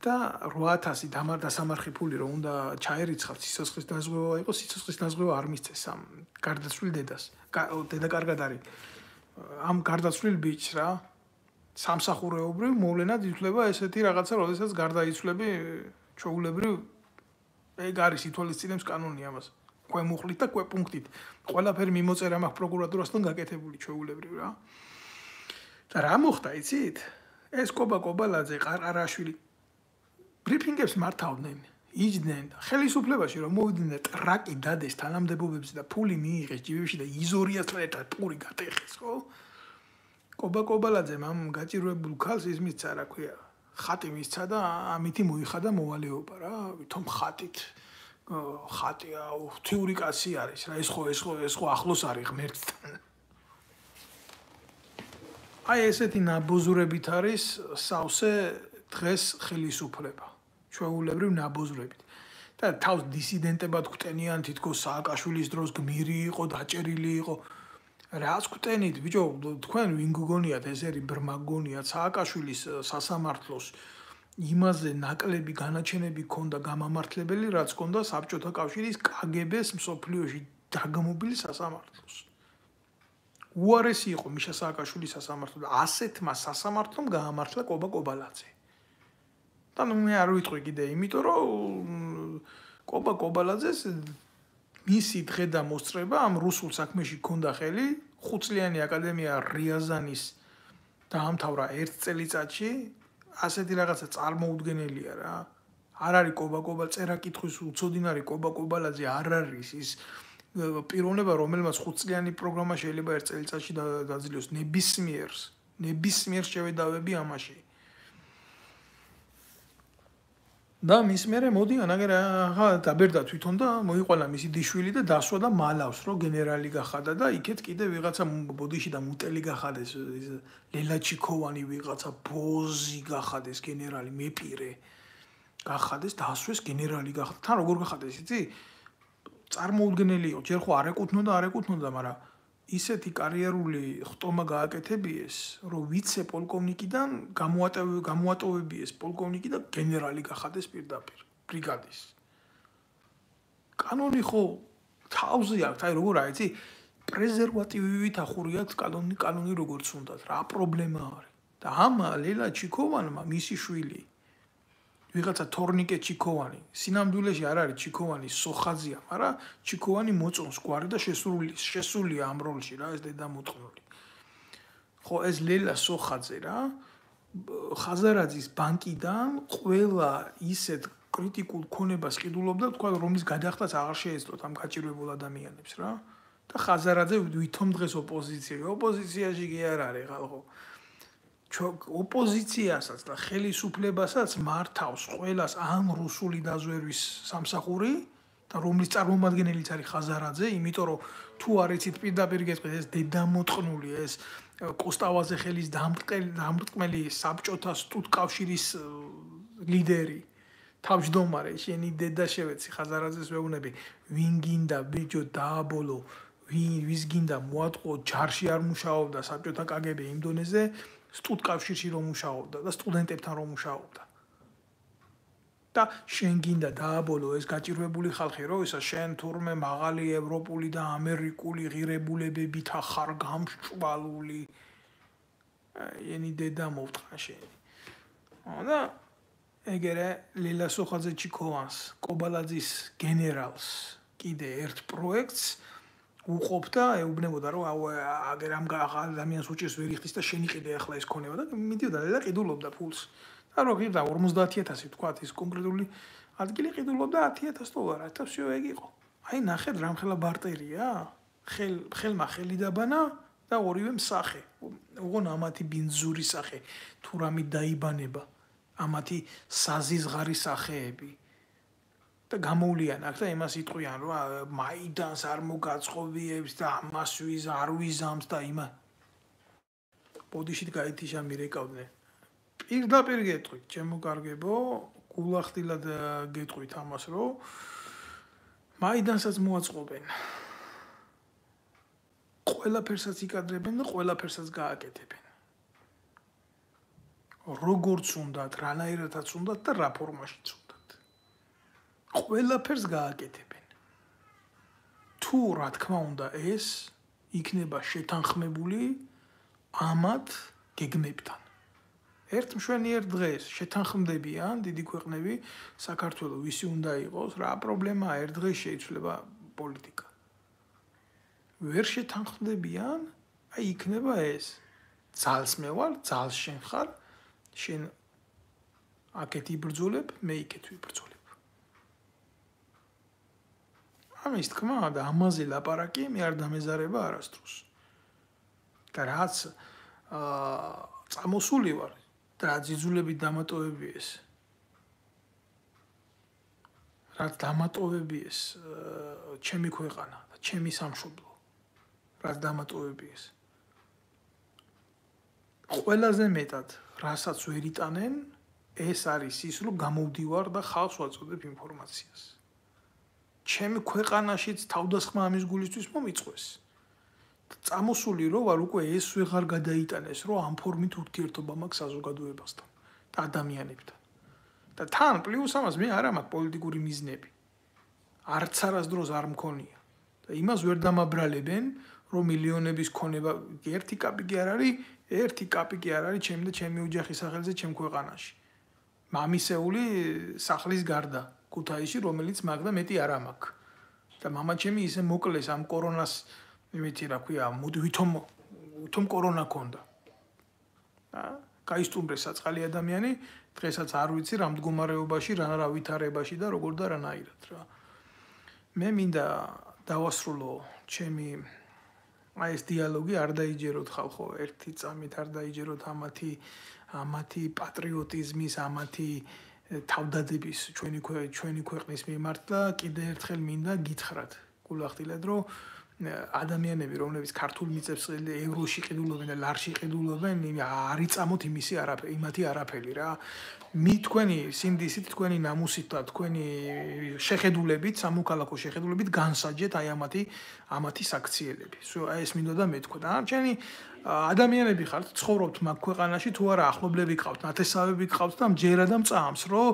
და რვა ათასი დასამარხი ფული რომ უნდა ჩაერიცხავთ, სიცოცხლის დაზღვევა იყო, სიცოცხლის დაზღვევა არ მისცეს ამ გარდაცვლილ დედას. დედა კარგად არის. ამ გარდაცვლილ ბიჭს რა. სამსახურეობრივ მოვლენად ითვლება ესეთი რაღაცა, როდესაც გარდაიცვლები ჩვეულებრივ ეგ არის ითვალისწინებს კანონი ამას. კვემუხლით და კვეპუნქტით. ყველაფერი მიმოწერა მაქვს პროკურატურასთან გაკეთებული ჩვეულებრივ რა. და რა მოხდა, იცით? ეს კობა კობალაძე, ყარყარაშვილი ბრიფინგებს მართავდნენ, იჯდნენ და ხელისუფლებაში რომ მოვიდნენ ტრაკი დადეს თანამდებობებზე და ფული მიიღეს ჯიბებში და იზორიასთან ერთად პური გატეხეს, ხო? კობა კობალაძემ ამ გაჭირვებულ ქალს ის მისცა, რა ქვია, ხატი მისცა და ამითი მოიხადა მოვალეობა რა, ვითომ ხატით. ხატია, ღვთიური კაცი არის რა, ეს ხო, ეს ხო, ეს ხო ახლოს არის ღმერთთან. აი ესეთი ნაბოზურებით არის სავსე დღეს ხელისუფლება. ჩვეულებრივ ნაბოზურებით. და თავს დისიდენტებად ხვტენიან, თითქოს სააკაშვილის დროს გმირი იყო, დაჭერილი იყო. რას ხვტენით, ბიჭო, თქვენ ვინ გგონიათ ეს ერი ბრმა გგონიათ სააკაშვილის სასამართლოს იმაზე ნაკლები განაჩენები ქონდა გამამართლებელი, რაც ქონდა საბჭოთა კავშირის კაგებეს მსოფლიოში დაგმობილი სასამართლოს. უარესი იყო მიშა სააკაშვილის სასამართლო და ასეთმა სასამართლომ გაამართლა კობა კობალაძე. და ნუ მე არ ვიტყვი კიდე, იმიტომ რომ კობა კობალაძეს მისი დღე და მოსწრება ამ რუსულ საქმეში ქონდა ხელი, ხუთწლიანი აკადემია რიაზანის დაამთავრა ერთ წელიწადში, ასეთი რაღაცა წარმოუდგენელია რა. არ არის კობა კობა წერა კითხვის უცოდინარი კობა კობალაძე არ არის ის პიროვნება, რომელმაც ხუთწლიანი პროგრამა შეიძლება ერთ წელიწადში დაძლიოს ნებისმიერს, ნებისმიერ შევედავები ამაში. და მის მერე მოდიან, აგერ ახლა დაბერდა თვითონ და მოიყვანა მისი დიშვილი და დასვა და მალავს, რომ გენერალი გახადა და იქეთ კიდე ვიღაცა ბოდიში და მუტელი გახადეს, ლელაჩიკოვანი ვიღაცა ბოზი გახადეს გენერალი, მეპირე გახადეს, დასვეს გენერალი გახადა. თან როგორ გახადეს, იცი? წარმოუდგენელი იყო, ჯერ ხო არ ეკუთვნოდა, არ ეკუთვნოდა, მაგრამ ისეთი კარიერული ხტომა გააკეთებიეს, რომ ვიცე პოლკოვნიკიდან გამოატოვებიეს პოლკოვნიკი და გენერალი გახადეს პირდაპირ. ბრიგადის. კანონი ხო თავზე აქვს, აი როგორ არის, იცი, პრეზერვატივით ახურიათ კანონი, კანონი როგორც უნდათ, რა პრობლემა არის. და ამ ლელა ჩიქოვანმა მისი შვილი ვიღაცა თორნიკე ჩიქოვანი, სინამდვილეში არ არის ჩიქოვანი სოხაძია, მაგრამ ჩიქოვანი მოწონს გვარი და შესული შესულია ამ როლში რა, ეს დედამოწყნული. ხო, ეს ლელა სოხაძე რა, ხაზარაძის ბანკიდან ყველა ისეთ კრიტიკულ ქონებას ყიდულობდა, თქვა რომლის გადახდაც აღარ შეეძლოთ ამ გაჭირვებულ ადამიანებს რა. და ხაზარაძე ვითომ დღეს ოპოზიციაში, ოპოზიციაში კი არ არის ხალხო. ოპოზიციასაც და ხელისუფლებასაც მართავს ყველას ამ რუსული დაზვერვის სამსახური და რომლის წარმომადგენელიც არის ხაზარაძე, იმიტომ რომ თუ არ იცით პირდაპირ გეტყვით ეს დედამოწყნული ეს კოსტავაზე ხელის დამრტყმელი საბჭოთა სტუდკავშირის ლიდერი თავმჯდომარე შენი დედა შევეცი ხაზარაძეს ვეუბნები ვინ გინდა ბიჭო დააბოლო ვინ ვის გინდა მოატყო ჯარში არ მუშაობდა საბჭოთა კაგები იმ დონეზე სტუდკავშირში რომ მუშაობდა და სტუდენტებთან რომ მუშაობდა და შენ გინდა დააბოლო ეს გაჭირვებული ხალხი რო ისა შენ თურმე მაღალი ევროპული და ამერიკული ღირებულებებით ახარ გამშვალული ენი დედა მოვტყა შენ და ეგერე ლელა სოხაძე ჩიქოვანს კობალაძის გენერალს კიდე ერთ პროექტს უყოფდა ეუბნებოდა რომ აგერ ამ ადამიანს უჭირს ვერ იხდის და შენ იყიდე ახლა ეს ქონება და მიდიოდა ლელა ყიდულობდა ფულს და რო ყიდა ორმოცდაათი ათასი თქვა ის კონკრეტული ადგილი ყიდულობდა ათი ათასი დოლარი და всё ეგ იყო აი ნახეთ რამხელა ბარტერია ხელ ხელმა ხელი დაბანა და ორივე მსახე ოღონ ამათი ბინძური სახე თუ რამე დაიბანება ამათი საზიზღარი სახეები და გამოვლიან აქ და იმას იტყვიან რომ მაიდანს არ მოგაწყობიებს და ამას ვიზ არ ვიზამს და იმა ბოდიშით გაითიშა მირეკავდნენ პირდაპირ გეტყვით ჩემო კარგებო გულახდილად გეტყვით ამას რომ მაიდანსაც მოაწყობენ ყველაფერსაც იკადრებენ და ყველაფერსაც გააკეთებენ როგორც უნდათ რანაირადაც უნდათ და რა ფორმაშიც უნდათ ყველაფერს გააკეთებენ თუ რა თქმა უნდა ეს იქნება შეთანხმებული ამათ გეგმებთან ერთ მშვენიერ დღეს შეთანხმდებიან დიდი ქვეყნები საქართველოს ვისი უნდა იყოს რა პრობლემაა ერთ დღეს შეიძლება პოლიტიკა ვერ შეთანხმდებიან აი იქნება ეს ძალს მე ვარ ძალს შენ ხარ შენ აქეთ იბრძოლებ მე იქეთ ვიბრძოლებ ამის თქმა და ამაზე ლაპარაკი მე არ დამეზარება არასდროს და რაც აა წამოსული ვარ და ძიძულებით დამატოვები ეს რაც დამატოვები ეს ჩემი ქვეყანა და ჩემი სამშობლო რაც დამატოვები ეს ყველაზე მეტად რასაც ვერ იტანენ ეს არის ის რომ გამოვდივარ და ხალხს ვაწოდებ ინფორმაციას ჩემი ქვეყანაშიც თავდასხმა ამის გულისთვის მომიწყვეს წამოსული რო ვარ უკვე ეს ვეღარ გადაიტანეს რომ ამ ფორმით ურთიერთობა მაქვს საზოგადოებასთან და ადამიანებთან და თან პლუს ამას მე არ მაქვს პოლიტიკური მიზნები არც არასდროს არ მქონია და იმას ვერ დამაბრალებენ რომ მილიონების ქონება ერთი კაპიკი არ არის ერთი კაპიკი არ არის ჩემი და ჩემი ოჯახის სახელზე ჩემ ქვეყანაში მამისეული სახლის გარდა ქუთაისში რომელიც მაგ და მეტი არ მაქვს და მამა ჩემი ისე მოკლეს ამ კორონას იმითი რა ქვია ვითომ ვითომ კორონა ქონდა და გაისტუმრეს საწყალი ადამიანი დღესაც არ ვიცი რა მდგომარეობაში რა რა ვითარებაში და როგორ და რანაირად რა მე მინდა დავასრულო ჩემი აი ეს დიალოგი არ დაიჯეროთ ხალხო ერთი წამით არ დაიჯეროთ ამათი ამათი პატრიოტიზმის ამათი თავდადების ჩვენი ჩვენი ქვეყნის მიმართ და კიდე ერთხელ მინდა გითხრათ გულახდილად რომ ადამიანები რომლებიც ქართულ მიწებს ევროში ყიდულობენ და ლარში ყიდულობენ არ იწამოთ იმისი არაფერი იმათი არაფერი რა მი თქვენი სინდისით თქვენი ნამუსით და თქვენი შეხედულებით სამოქალაქო შეხედულებით განსაჯეთ აი ამათი ამათი საქციელები აი ეს მინდოდა მეთქვა და არჩენი ადამიანები ხართ ცხოვრობთ მაგ ქვეყანაში თუ არა ახლობლები გყავთ ნათესავები გყავთ და მჯერა და მწამს რომ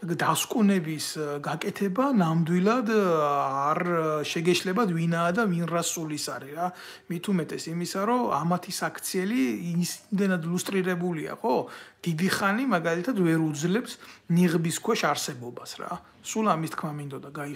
დასკვნების გაკეთება ნამდვილად არ შეგეშლებათ ვინაა და ვინ რა სულის არის რა. მით უმეტეს იმისა, რომ ამათი საქციელი იმდენად ლუსტრირებულია, ხო? დიდი ხანი მაგალითად ვერ უძლებს ნიღბის ქვეშ არსებობას რა. სულ ამის თქმა მინდოდა გაიხ